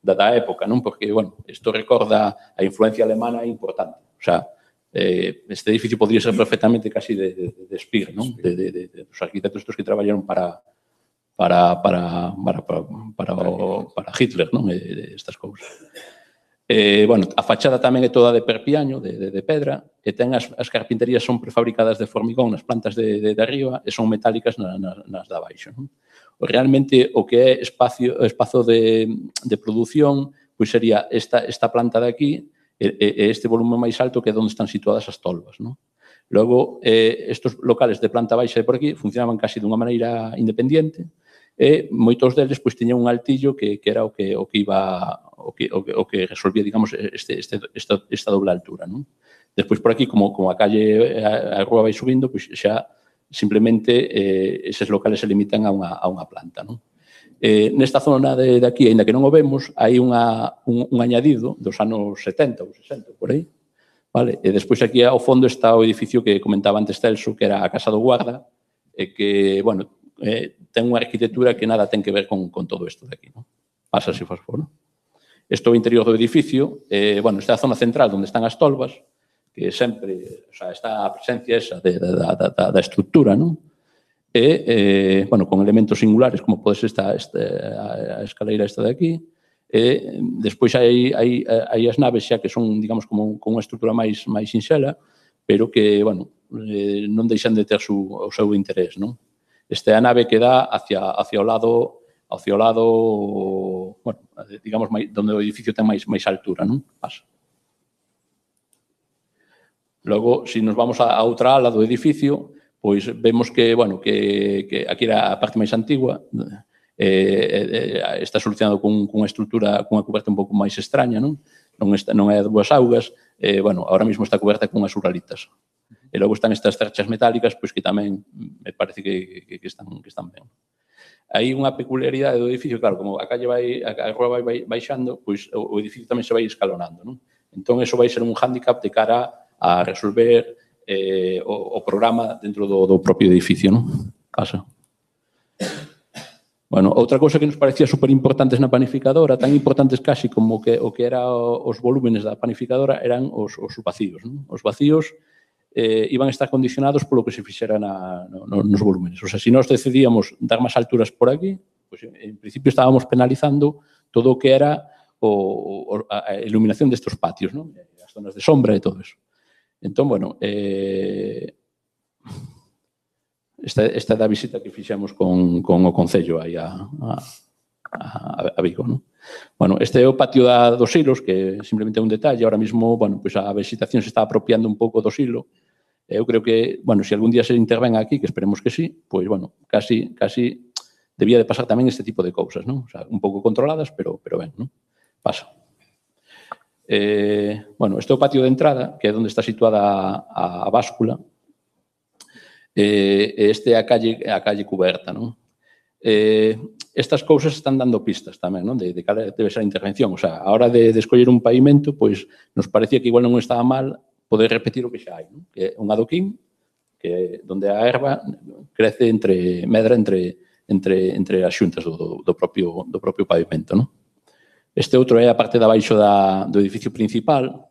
da época, porque isto recorda a influencia alemana importante. O sea, este edificio podría ser perfectamente casi de Speer, dos arquitectos estos que traballaron para para Hitler, estas cousas. A fachada tamén é toda de perpiaño, de pedra, e ten as carpinterías son prefabricadas de formigón nas plantas de arriba e son metálicas nas de abaixo. Realmente o que é espazo de produción sería esta planta de aquí e este volumen máis alto que é onde están situadas as tolvas. Logo, estes locales de planta baixa e por aquí funcionaban casi dunha maneira independiente e moitos deles tiñan un altillo que era o que iba o que resolvía, digamos, esta doble altura. Despois, por aquí, como a calle, a rúa vai subindo, xa simplemente eses locales se limitan a unha planta. Nesta zona de aquí, ainda que non o vemos, hai un añadido dos anos setenta ou sesenta, por aí. E despois aquí ao fondo está o edificio que comentaba antes Celso, que era a Casa do Guarda, e que, bueno, ten unha arquitectura que nada ten que ver con todo isto de aquí. Pasa, se faz fora. Isto é o interior do edificio. Esta é a zona central onde están as tolvas, que sempre está a presencia esa da estructura, e con elementos singulares, como pode ser a escaleira esta de aquí. Despois hai as naves xa que son, digamos, con unha estructura máis sinxela, pero que non deixan de ter o seu interés. Esta é a nave que dá hacia o lado, hacia o lado, digamos, onde o edificio ten máis altura. Pasa. Logo, se nos vamos a outra ala do edificio, pois vemos que aquí era a parte máis antigua, está solucionado con unha estrutura, con unha coberta un pouco máis extraña, non é a dúas augas, agora mesmo está coberta con as uralitas. E logo están estas cerchas metálicas que tamén me parece que están ben. hai unha peculiaridade do edificio, claro, como a calle vai, a rúa vai baixando, pois o edificio tamén se vai escalonando, non? Entón, eso vai ser un hándicap de cara a resolver eh, o, o programa dentro do, do propio edificio, non? Pasa. Bueno, outra cousa que nos parecía super importantes na panificadora, tan importantes casi como que o que era os volúmenes da panificadora, eran os, os vacíos, non? Os vacíos eh, iban a estar condicionados polo que se fixera na, no, nos volúmenes. O sea, se nós decidíamos dar máis alturas por aquí, pues, en principio estábamos penalizando todo o que era o, o, a iluminación destes patios, ¿no? As zonas de sombra e todo eso. Entón, bueno, eh, esta, esta é da visita que fixemos con, con o Concello aí a, a, a, a Vigo, ¿no? Bueno, este é o patio da, dos silos, que simplemente é un detalle. Ahora mismo, bueno, pues a vegetación se está apropiando un pouco do silo. Eu creo que, bueno, se algún día se interven aquí, que esperemos que sí, pois, bueno, casi, casi debía de pasar tamén este tipo de cousas, non? O sea, un pouco controladas, pero, pero ben, non? Pasa. Eh, bueno, este é o patio de entrada, que é onde está situada a, a báscula. Eh, este é a calle, a calle cuberta, non? Eh, estas cousas están dando pistas tamén, non? De, de cal debe ser a intervención. O sea, a hora de, de escoller un pavimento, pois, nos parecía que igual non estaba mal poder repetir o que xa hai, non? Que é un adoquín, que é onde a erva crece entre, medra entre, entre, entre as xuntas do, do, propio, do propio pavimento, non? Este outro é a parte de abaixo da, do edificio principal.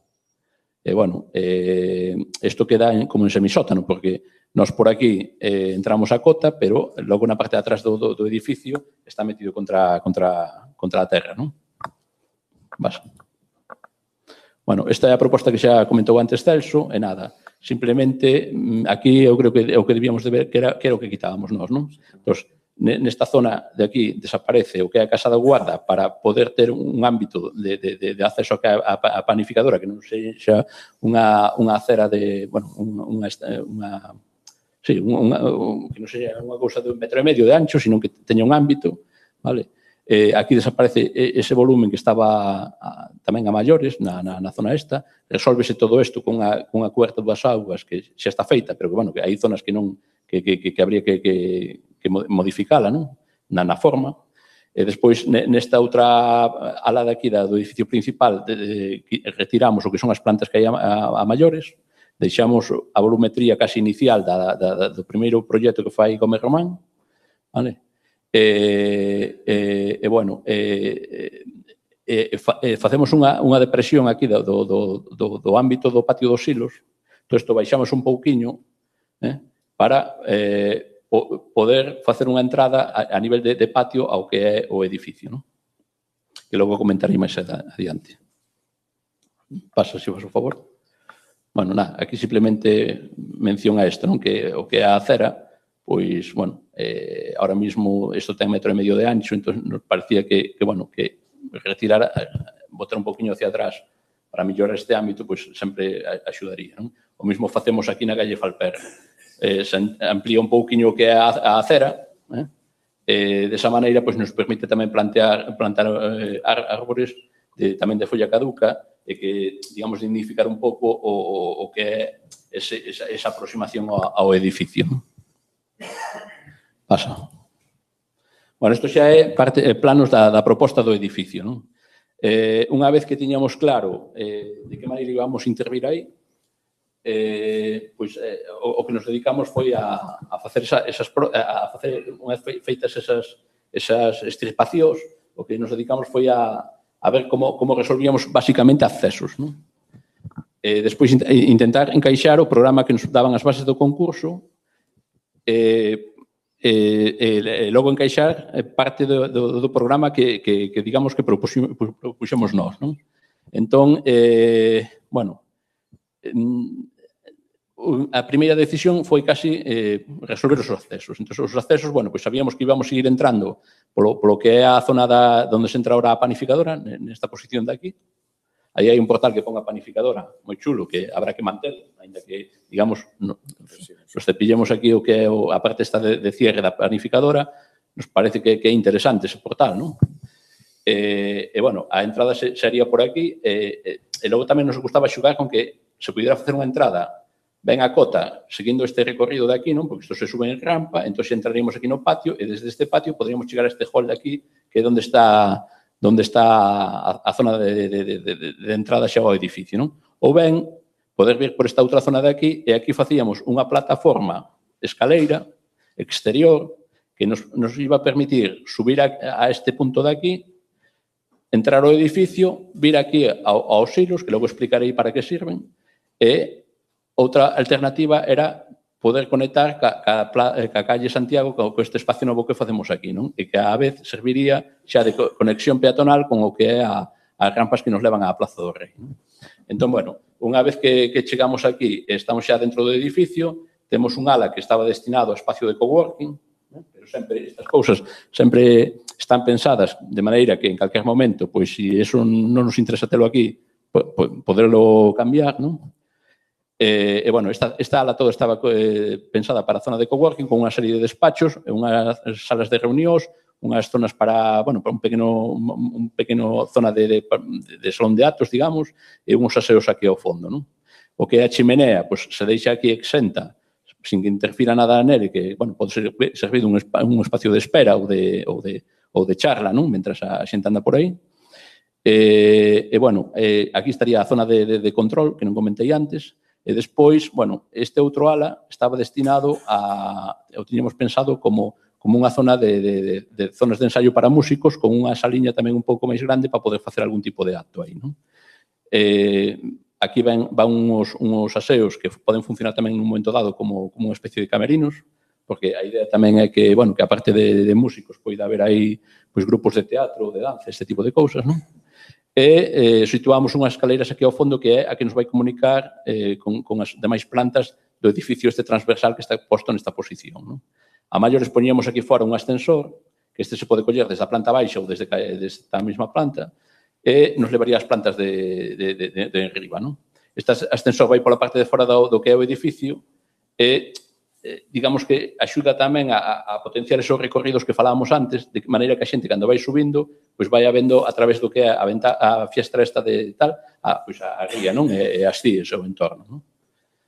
E, bueno, eh, isto queda en, como en semisótano, porque nós por aquí eh, entramos a cota, pero logo na parte de atrás do, do, do edificio está metido contra, contra, contra a terra, non? Vas. Bueno, esta é a proposta que xa comentou antes Celso, e nada, simplemente aquí eu creo que o que debíamos de ver que era, que era o que quitábamos nós, non? Entón, nesta zona de aquí desaparece o que é a Casa da Guarda para poder ter un ámbito de, de, de acceso a, a panificadora que non sexa unha, unha acera de, bueno, unha, unha sí, unha, que non sexa unha cousa de un metro e medio de ancho, sino que teña un ámbito, vale? Eh, aquí desaparece ese volumen que estaba a, tamén a maiores na, na, na zona esta, resolvese todo isto con a, con a cuberta das augas que xa está feita, pero que, bueno, que hai zonas que non que, que, que habría que, que, que modificala, non? Na, na forma. E despois, nesta outra ala de aquí do edificio principal, de, de, retiramos o que son as plantas que hai a, a, a maiores, deixamos a volumetría casi inicial da, da, da, do primeiro proxecto que fai Gómez Román, vale? E, e, e bueno, e, e, e facemos unha, unha depresión aquí do, do, do, do ámbito do patio dos silos. Entón, isto baixamos un pouquiño, eh, para eh, poder facer unha entrada a, a nivel de, de patio ao que é o edificio, non? Que logo comentarei máis adiante. Pasa, se vos, por favor. Bueno, nada, aquí simplemente mención a isto, non? Que o que é a acera, pois, bueno, eh, ahora mismo isto ten metro e medio de ancho, entón nos parecía que, que bueno, que retirar, botar un poquinho hacia atrás para mellorar este ámbito, pois sempre axudaría, non? O mesmo facemos aquí na calle Falper. Eh, se amplía un pouquinho o que é a, a acera, eh? Eh, desa maneira, pois nos permite tamén plantear, plantar eh, árbores de, tamén de folla caduca, e que, digamos, dignificar un pouco o, o que é ese, esa, esa aproximación ao, ao edificio. Pasa. Bueno, isto xa é parte, eh, planos da, da proposta do edificio, non? Eh, unha vez que tiñamos claro eh, de que maneira íbamos a intervir aí, eh, pois, eh, o, o que nos dedicamos foi a, a facer esa, esas, a facer unha vez feitas esas, esas estripacións, o que nos dedicamos foi a, a ver como, como resolvíamos basicamente accesos, non? Eh, despois intentar encaixar o programa que nos daban as bases do concurso, e eh, eh, eh, logo encaixar parte do, do, do programa que, que, que digamos que propuxemos, propuxemos nós, non? Entón, eh, bueno, a primeira decisión foi casi eh, resolver os accesos. Entón, os accesos, bueno, pois sabíamos que íbamos a ir entrando polo, polo que é a zona da, onde se entra ahora a panificadora, nesta posición de aquí. Aí hai un portal que pon a panificadora moi chulo, que habrá que manter, ainda que, digamos, no, nos cepillemos aquí o que é a parte esta de, de cierre da panificadora, nos parece que, que é interesante ese portal, non? E, e, bueno, a entrada sería por aquí, e, e, e logo tamén nos gustaba xugar con que se pudiera facer unha entrada ven a cota seguindo este recorrido de aquí, non? Porque isto se sube en rampa, entón entraríamos aquí no patio e desde este patio poderíamos chegar a este hall de aquí, que é onde está onde está a, a zona de, de, de, de, de entrada xa ao edificio, non? Ou ben, poder vir por esta outra zona de aquí e aquí facíamos unha plataforma escaleira exterior que nos, nos iba a permitir subir a, a este punto de aquí, entrar ao edificio, vir aquí ao, aos silos, que logo explicarei para que sirven, e outra alternativa era poder conectar ca, ca, ca calle Santiago co, co este espacio novo que facemos aquí, non? E que a vez serviría xa de conexión peatonal con o que é a, as rampas que nos levan á Plaza do Rei, non? Entón, bueno, unha vez que, que chegamos aquí e estamos xa dentro do edificio, temos un ala que estaba destinado a espacio de coworking, ¿no? Pero sempre estas cousas sempre están pensadas de maneira que en calquer momento, pois, se eso non nos interesa telo aquí, poderlo cambiar, non? E, e bueno, esta, esta ala toda estaba eh, pensada para a zona de coworking con unha serie de despachos, unhas salas de reunións, unhas zonas para, bueno, para un pequeno, un pequeno zona de, de, de salón de actos, digamos, e uns aseos aquí ao fondo, non? O que é a chimenea, pois, se deixa aquí exenta, sin que interfira nada nele, que, bueno, pode ser servir un, un espacio de espera ou de, ou de, ou de charla, non? Mentras a xente anda por aí. E, e bueno, eh, aquí estaría a zona de, de, de control, que non comentei antes, e despois, bueno, este outro ala estaba destinado a, o tiñamos pensado como, como unha zona de, de, de, de zonas de ensaio para músicos, con unha saliña tamén un pouco máis grande para poder facer algún tipo de acto aí, non? Eh, Aquí van, van uns, uns aseos que poden funcionar tamén nun momento dado como, como unha especie de camerinos, porque a idea tamén é que, bueno, que aparte de, de músicos poida haber aí pois, grupos de teatro, de danza, este tipo de cousas, non? E eh, situamos unhas escaleiras aquí ao fondo que é a que nos vai comunicar eh, con, con as demais plantas do edificio este transversal que está posto nesta posición, non? A maiores poñíamos aquí fora un ascensor, que este se pode coller desde a planta baixa ou desde, desde a mesma planta, e nos levaría as plantas de, de, de, de, de enriba, non? Este ascensor vai pola parte de fora do, do que é o edificio e, eh, digamos que axuda tamén a, a potenciar esos recorridos que falábamos antes, de maneira que a xente, cando vai subindo, pois vai vendo a través do que é a, venta, a fiestra esta de tal, a, pois a, a ría, non? E, e as cíes, o entorno, non?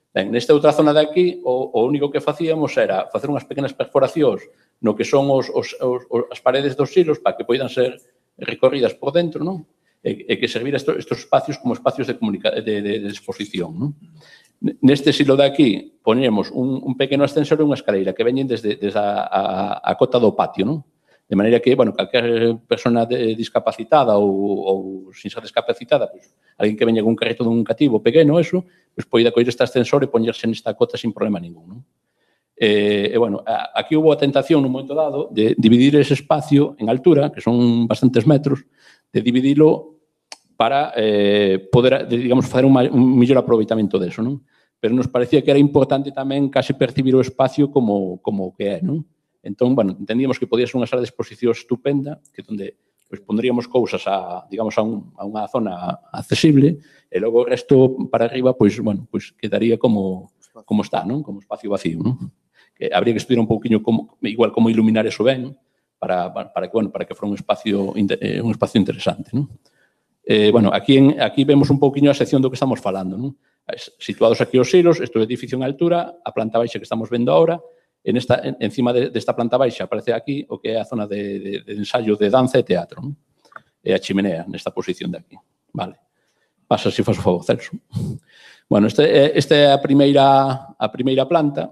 Ben, nesta outra zona de aquí, o, o único que facíamos era facer unhas pequenas perforacións no que son os, os, os, as paredes dos silos para que poidan ser recorridas por dentro, non? E, e que servir estos, estos espacios como espacios de, de, de, de exposición, non? Neste silo de aquí poñemos un, un pequeno ascensor e unha escaleira que veñen desde, desde a, a, a cota do patio, non? De maneira que, bueno, calquer persona de, discapacitada ou, ou sin ser discapacitada, pues, alguén que veña con un carrito dun cativo pequeno, eso, pues, poida coller este ascensor e poñerse nesta cota sin problema ningún, non? E, e, bueno, aquí hubo a tentación nun momento dado de dividir ese espacio en altura, que son bastantes metros, de dividilo para eh, poder, digamos, facer un, un mellor aproveitamento deso, non? Pero nos parecía que era importante tamén case percibir o espacio como, como que é, non? Entón, bueno, entendíamos que podía ser unha sala de exposición estupenda, que onde pues, pondríamos cousas a, digamos, a, un, a unha zona accesible, e logo o resto para arriba, pois, bueno, pues quedaría como, como está, non? Como espacio vacío, non? Que habría que estudiar un pouquiño como, igual como iluminar eso ben, para, para, que, bueno, para que fora un espacio, un espacio interesante, non? Eh, bueno, aquí, en, aquí vemos un pouquiño a sección do que estamos falando, non? Situados aquí os silos, este é o edificio en altura, a planta baixa que estamos vendo ahora, en esta, en, encima de, desta planta baixa aparece aquí o que é a zona de, de, de ensayo de danza e teatro, non? E a chimenea nesta posición de aquí. Vale. Pasa, se faz o favor, Celso. Bueno, esta este é a primeira, a primeira planta,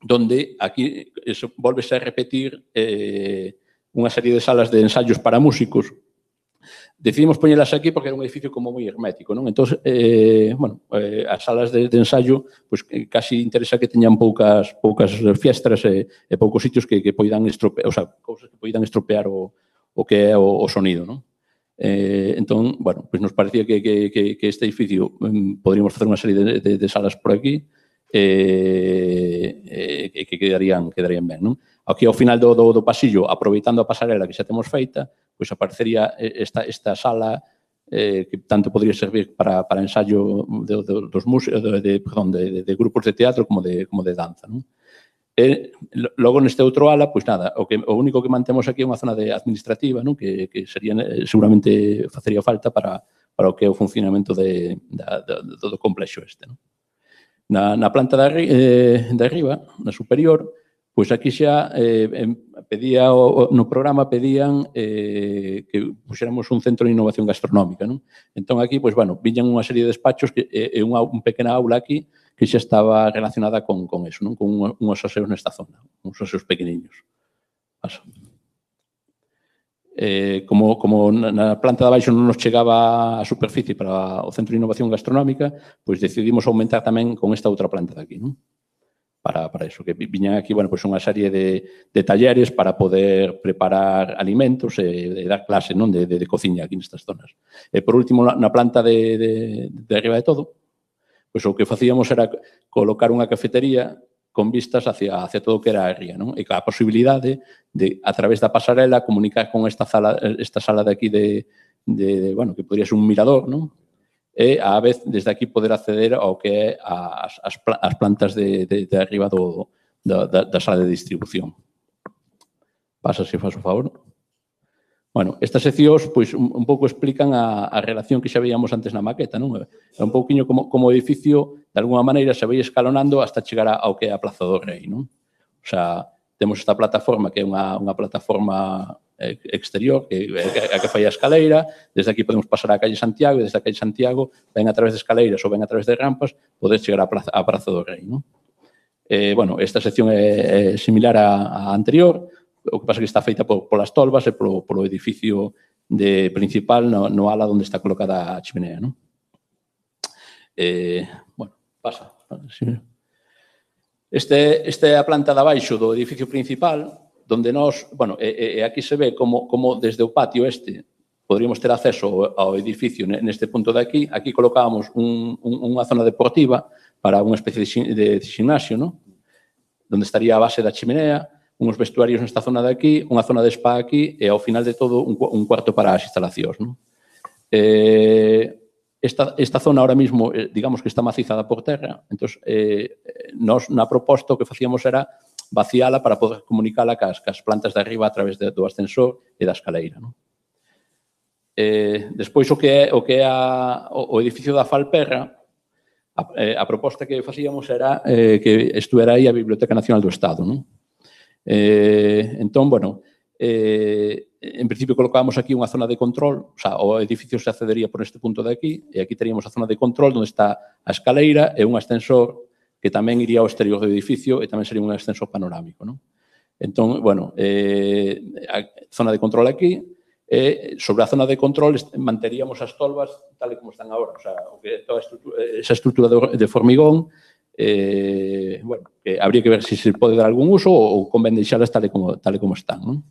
donde aquí eso, volvese a repetir eh, unha serie de salas de ensayos para músicos. Decidimos poñelas aquí porque era un edificio como moi hermético, non? Entón, eh, bueno, eh, as salas de, de ensayo, pues, casi interesa que teñan poucas poucas fiestras e, e poucos sitios que, que poidan estropear, o sea, cousas que poidan estropear o, o que é o, o sonido, non? Eh, entón, bueno, pues nos parecía que, que, que, que este edificio um, podríamos facer unha serie de, de, de salas por aquí e eh, eh, que quedarían, quedarían ben, non? Aquí ao final do, do, do pasillo, aproveitando a pasarela que xa temos feita, pois aparecería esta, esta sala eh, que tanto podría servir para, para ensayo de, de, dos músicos, de, de, perdón, de, de grupos de teatro como de, como de danza, non? E logo neste outro ala, pois nada, o, que, o único que mantemos aquí é unha zona de administrativa, non? Que, que sería, seguramente facería falta para, para o que é o funcionamento de, da, da, do complexo este, non? Na, na planta de, arri, eh, de arriba, na superior, pois aquí xa eh, pedía, o, no programa pedían eh, que puxéramos un centro de innovación gastronómica, non? Entón aquí, pois, bueno, viñan unha serie de despachos e eh, unha, unha pequena aula aquí que xa estaba relacionada con, con eso, non? Con unhos aseos nesta zona, uns aseos pequeniños. Paso. Eh, como, como na planta de abaixo non nos chegaba a superficie para o Centro de Innovación Gastronómica, pois decidimos aumentar tamén con esta outra planta de aquí, non? Para, para eso, que viñan aquí, bueno, pois unha serie de, de talleres para poder preparar alimentos e, e dar clase, non, de, de, de cociña aquí nestas zonas. E por último, na planta de, de, de arriba de todo, pois o que facíamos era colocar unha cafetería con vistas hacia, hacia todo o que era a ría, non? E a posibilidade de, a través da pasarela, comunicar con esta sala, esta sala de aquí de, de, de bueno, que podría ser un mirador, non? E, á vez, desde aquí poder acceder ao que é as, as, as plantas de, de, de arriba do, da, da sala de distribución. Pasa, se faz o favor. Bueno, estas seccións, pois, un, un pouco explican a, a relación que xa veíamos antes na maqueta, non? É un pouquiño como, como o edificio, de alguna maneira, se vai escalonando hasta chegar ao que é a Plaza do Rei, non? O sea, temos esta plataforma que é unha, unha plataforma exterior, que é a que fai a escaleira, desde aquí podemos pasar á calle Santiago, e desde a calle Santiago, ven a través de escaleiras ou ven a través de rampas, poder chegar á Praza, á Praza do Rei, non? Eh, bueno, esta sección é, é similar á, á anterior, o que pasa é que está feita por, polas tolvas e polo, polo edificio de principal no, no ala onde está colocada a chimenea, non? Eh, bueno, pasa. Este, este é a planta de abaixo do edificio principal, donde nós, bueno, e, e aquí se ve como, como desde o patio este poderíamos ter acceso ao edificio neste punto de aquí. Aquí colocábamos un, un, unha zona deportiva para unha especie de, de gimnasio, non? Donde estaría a base da chimenea, uns vestuarios nesta zona de aquí, unha zona de spa aquí e ao final de todo un, un cuarto para as instalacións, non? Eh, esta, esta zona ahora mismo, eh, digamos que está macizada por terra, entón, eh, nos na proposta o que facíamos era vaciala para poder comunicala cas, cas plantas de arriba a través de, do ascensor e da escaleira, non? Eh, despois, o que é, o, que é a, o, o edificio da Falperra, a, eh, a proposta que facíamos era eh, que estuera aí a Biblioteca Nacional do Estado, non? Eh, entón, bueno, eh, en principio colocábamos aquí unha zona de control, o sea, o edificio se accedería por este punto de aquí, e aquí teríamos a zona de control onde está a escaleira e un ascensor que tamén iría ao exterior do edificio e tamén sería un ascensor panorámico, non? Entón, bueno, eh, a zona de control aquí, e sobre a zona de control manteríamos as tolvas tal e como están agora, o sea, o que toda estrutura, esa estrutura de, de formigón, eh, bueno, que habría que ver se si se pode dar algún uso ou convén deixalas tal e como, tal e como están, non?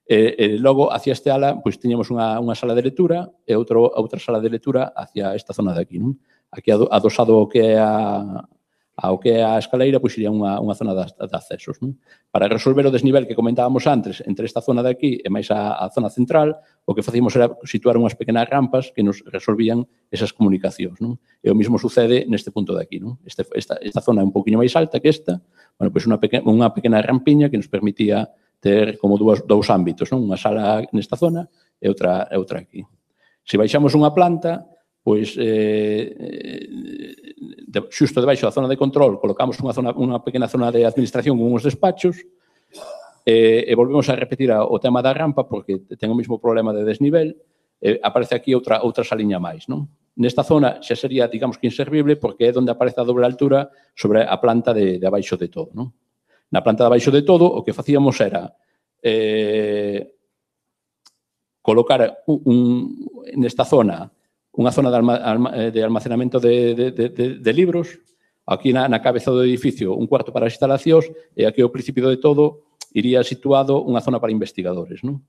E, e logo, hacia este ala, pois tiñamos unha, unha sala de lectura e outro, outra sala de lectura hacia esta zona de aquí, non? Aquí adosado o que é a, ao que é a escaleira, pois iría unha, unha zona de, de accesos, non? Para resolver o desnivel que comentábamos antes entre esta zona de aquí e máis a, a zona central, o que facíamos era situar unhas pequenas rampas que nos resolvían esas comunicacións, non? E o mesmo sucede neste punto de aquí, non? Este, esta, esta zona é un poquinho máis alta que esta, bueno, pois unha pequena, unha pequena rampiña que nos permitía ter como dous, dous ámbitos, non? Unha sala nesta zona e outra, e outra aquí. Se baixamos unha planta, pois eh, de, xusto debaixo da zona de control colocamos unha, zona, unha pequena zona de administración con uns despachos e, e volvemos a repetir a, o tema da rampa porque ten o mesmo problema de desnivel e aparece aquí outra, outra saliña máis, non? Nesta zona xa sería, digamos que inservible porque é onde aparece a doble altura sobre a planta de, de abaixo de todo, non? Na planta de abaixo de todo o que facíamos era eh, colocar un, un, nesta zona unha zona de, alma, de almacenamento de, de, de, de libros, aquí na, na cabeza do edificio un cuarto para as instalacións e aquí ao principio de todo iría situado unha zona para investigadores, non?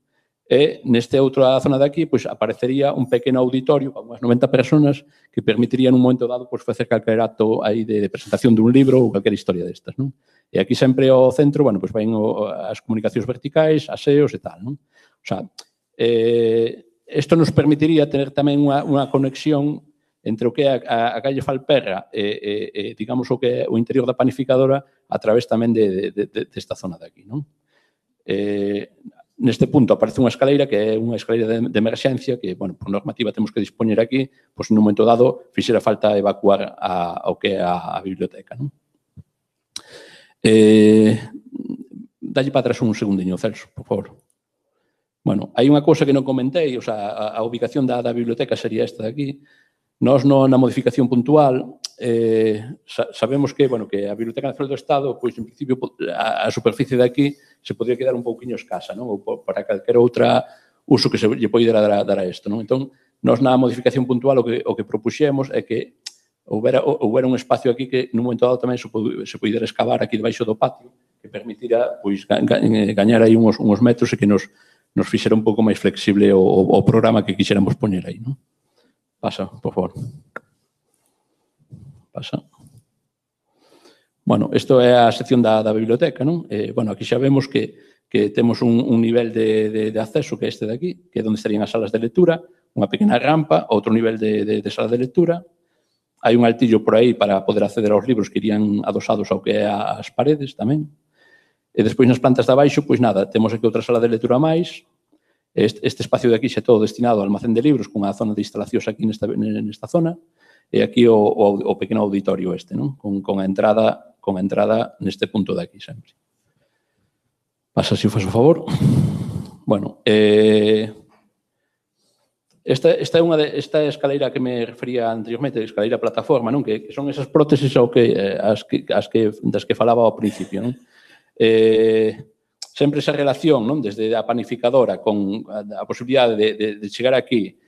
E neste outra zona de aquí pois, aparecería un pequeno auditorio con unhas noventa personas que permitiría nun momento dado pois, facer calquer acto aí de, de presentación dun libro ou calquer historia destas, non? E aquí sempre ao centro, bueno, pois, ven o, as comunicacións verticais, aseos e tal, non? O sea, eh, isto nos permitiría tener tamén unha, unha conexión entre o que é a, a calle Falperra e, e, e, digamos, o que é o interior da panificadora a través tamén de, de, de, de esta zona de aquí, non? Eh, neste punto aparece unha escaleira que é unha escaleira de, de emerxencia que, bueno, por normativa temos que dispoñer aquí, pois nun momento dado fixera falta evacuar a, ao que é a, a biblioteca, non? Eh, dalle para atrás un segundiño, Celso, por favor. Bueno, hai unha cousa que non comentei, o sea, a, a ubicación da, da biblioteca sería esta de aquí. Nós, no, na modificación puntual, eh, sa, sabemos que, bueno, que a Biblioteca Nacional do Estado, pois, en principio, a, a superficie de aquí se podría quedar un pouquinho escasa, non? Ou para calquer outra uso que se lle poidera dar a, dar a isto, non? Entón, nós na modificación puntual o que, o que propuxemos é que houbera, houbera un espacio aquí que, nun momento dado, tamén se, se poidera excavar aquí debaixo do patio, que permitira, pois, ga, ga, gañar aí uns, uns metros e que nos, nos fixera un pouco máis flexible o, o, o programa que quixéramos poñer aí, non? Pasa, por favor. Pasa. Bueno, isto é a sección da, da biblioteca, non? Eh, bueno, aquí xa vemos que, que temos un, un nivel de, de, de acceso que é este de aquí, que é onde estarían as salas de lectura, unha pequena rampa, outro nivel de, de, de sala de lectura. Hai un altillo por aí para poder acceder aos libros que irían adosados ao que é as paredes tamén. E despois nas plantas de abaixo, pois nada, temos aquí outra sala de lectura máis. Este, este espacio de aquí xa é todo destinado ao almacén de libros, con a zona de instalacións aquí nesta, nesta zona, e aquí o, o, o pequeno auditorio este, non? Con, con a entrada con a entrada neste punto de aquí sempre. Pasa, se faz o favor. Bueno, eh, esta, esta é unha de, esta escaleira que me refería anteriormente, escaleira plataforma, non? Que, que son esas prótesis ao que, as que, as que, das que falaba ao principio, non? Eh, sempre esa relación, non? Desde a panificadora con a, a posibilidade de, de, de chegar aquí,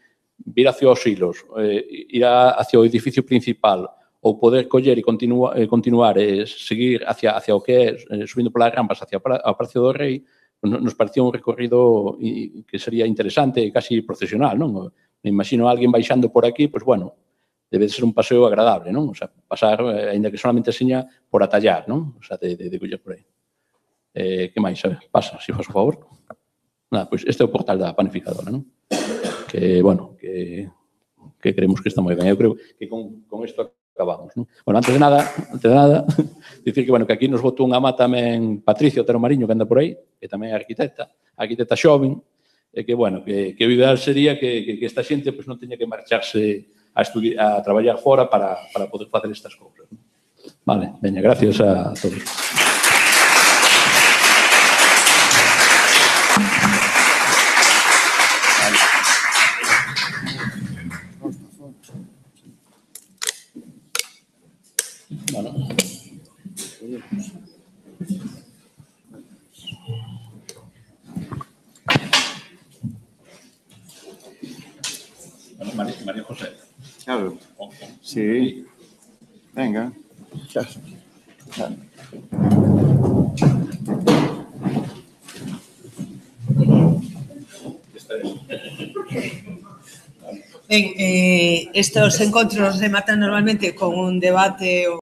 vir hacia os hilos, eh, ir a, hacia o edificio principal ou poder coller e continua, eh, continuar e eh, seguir hacia, hacia o que é, eh, subindo polas rampas hacia o Palacio do Rei, nos parecía un recorrido que sería interesante e casi procesional, non? Me imagino a alguén baixando por aquí, pois, bueno, debe de ser un paseo agradable, non? O sea, pasar, eh, ainda que solamente seña por atallar, non? O sea, de, de, de coller por aí. Eh, que máis? A ver, pasa, se faz o favor. Nada, pois este é o portal da panificadora, non? Que, bueno, que, que creemos que está moi ben. Eu creo que con, con isto acabamos, non? Bueno, antes de nada, antes de nada, dicir que, bueno, que aquí nos botou unha má tamén Patricio Otero Mariño, que anda por aí, que tamén é arquitecta, arquitecta xoven, e que, bueno, que, que o ideal sería que, que, que esta xente pues, non teña que marcharse a, a traballar fora para, para poder facer estas cousas, non? Vale, veña, gracias a todos. Bueno. Bueno, María, María José. Claro. Sí. Venga. Claro. Claro. Ben, eh, estos encontros rematan normalmente con un debate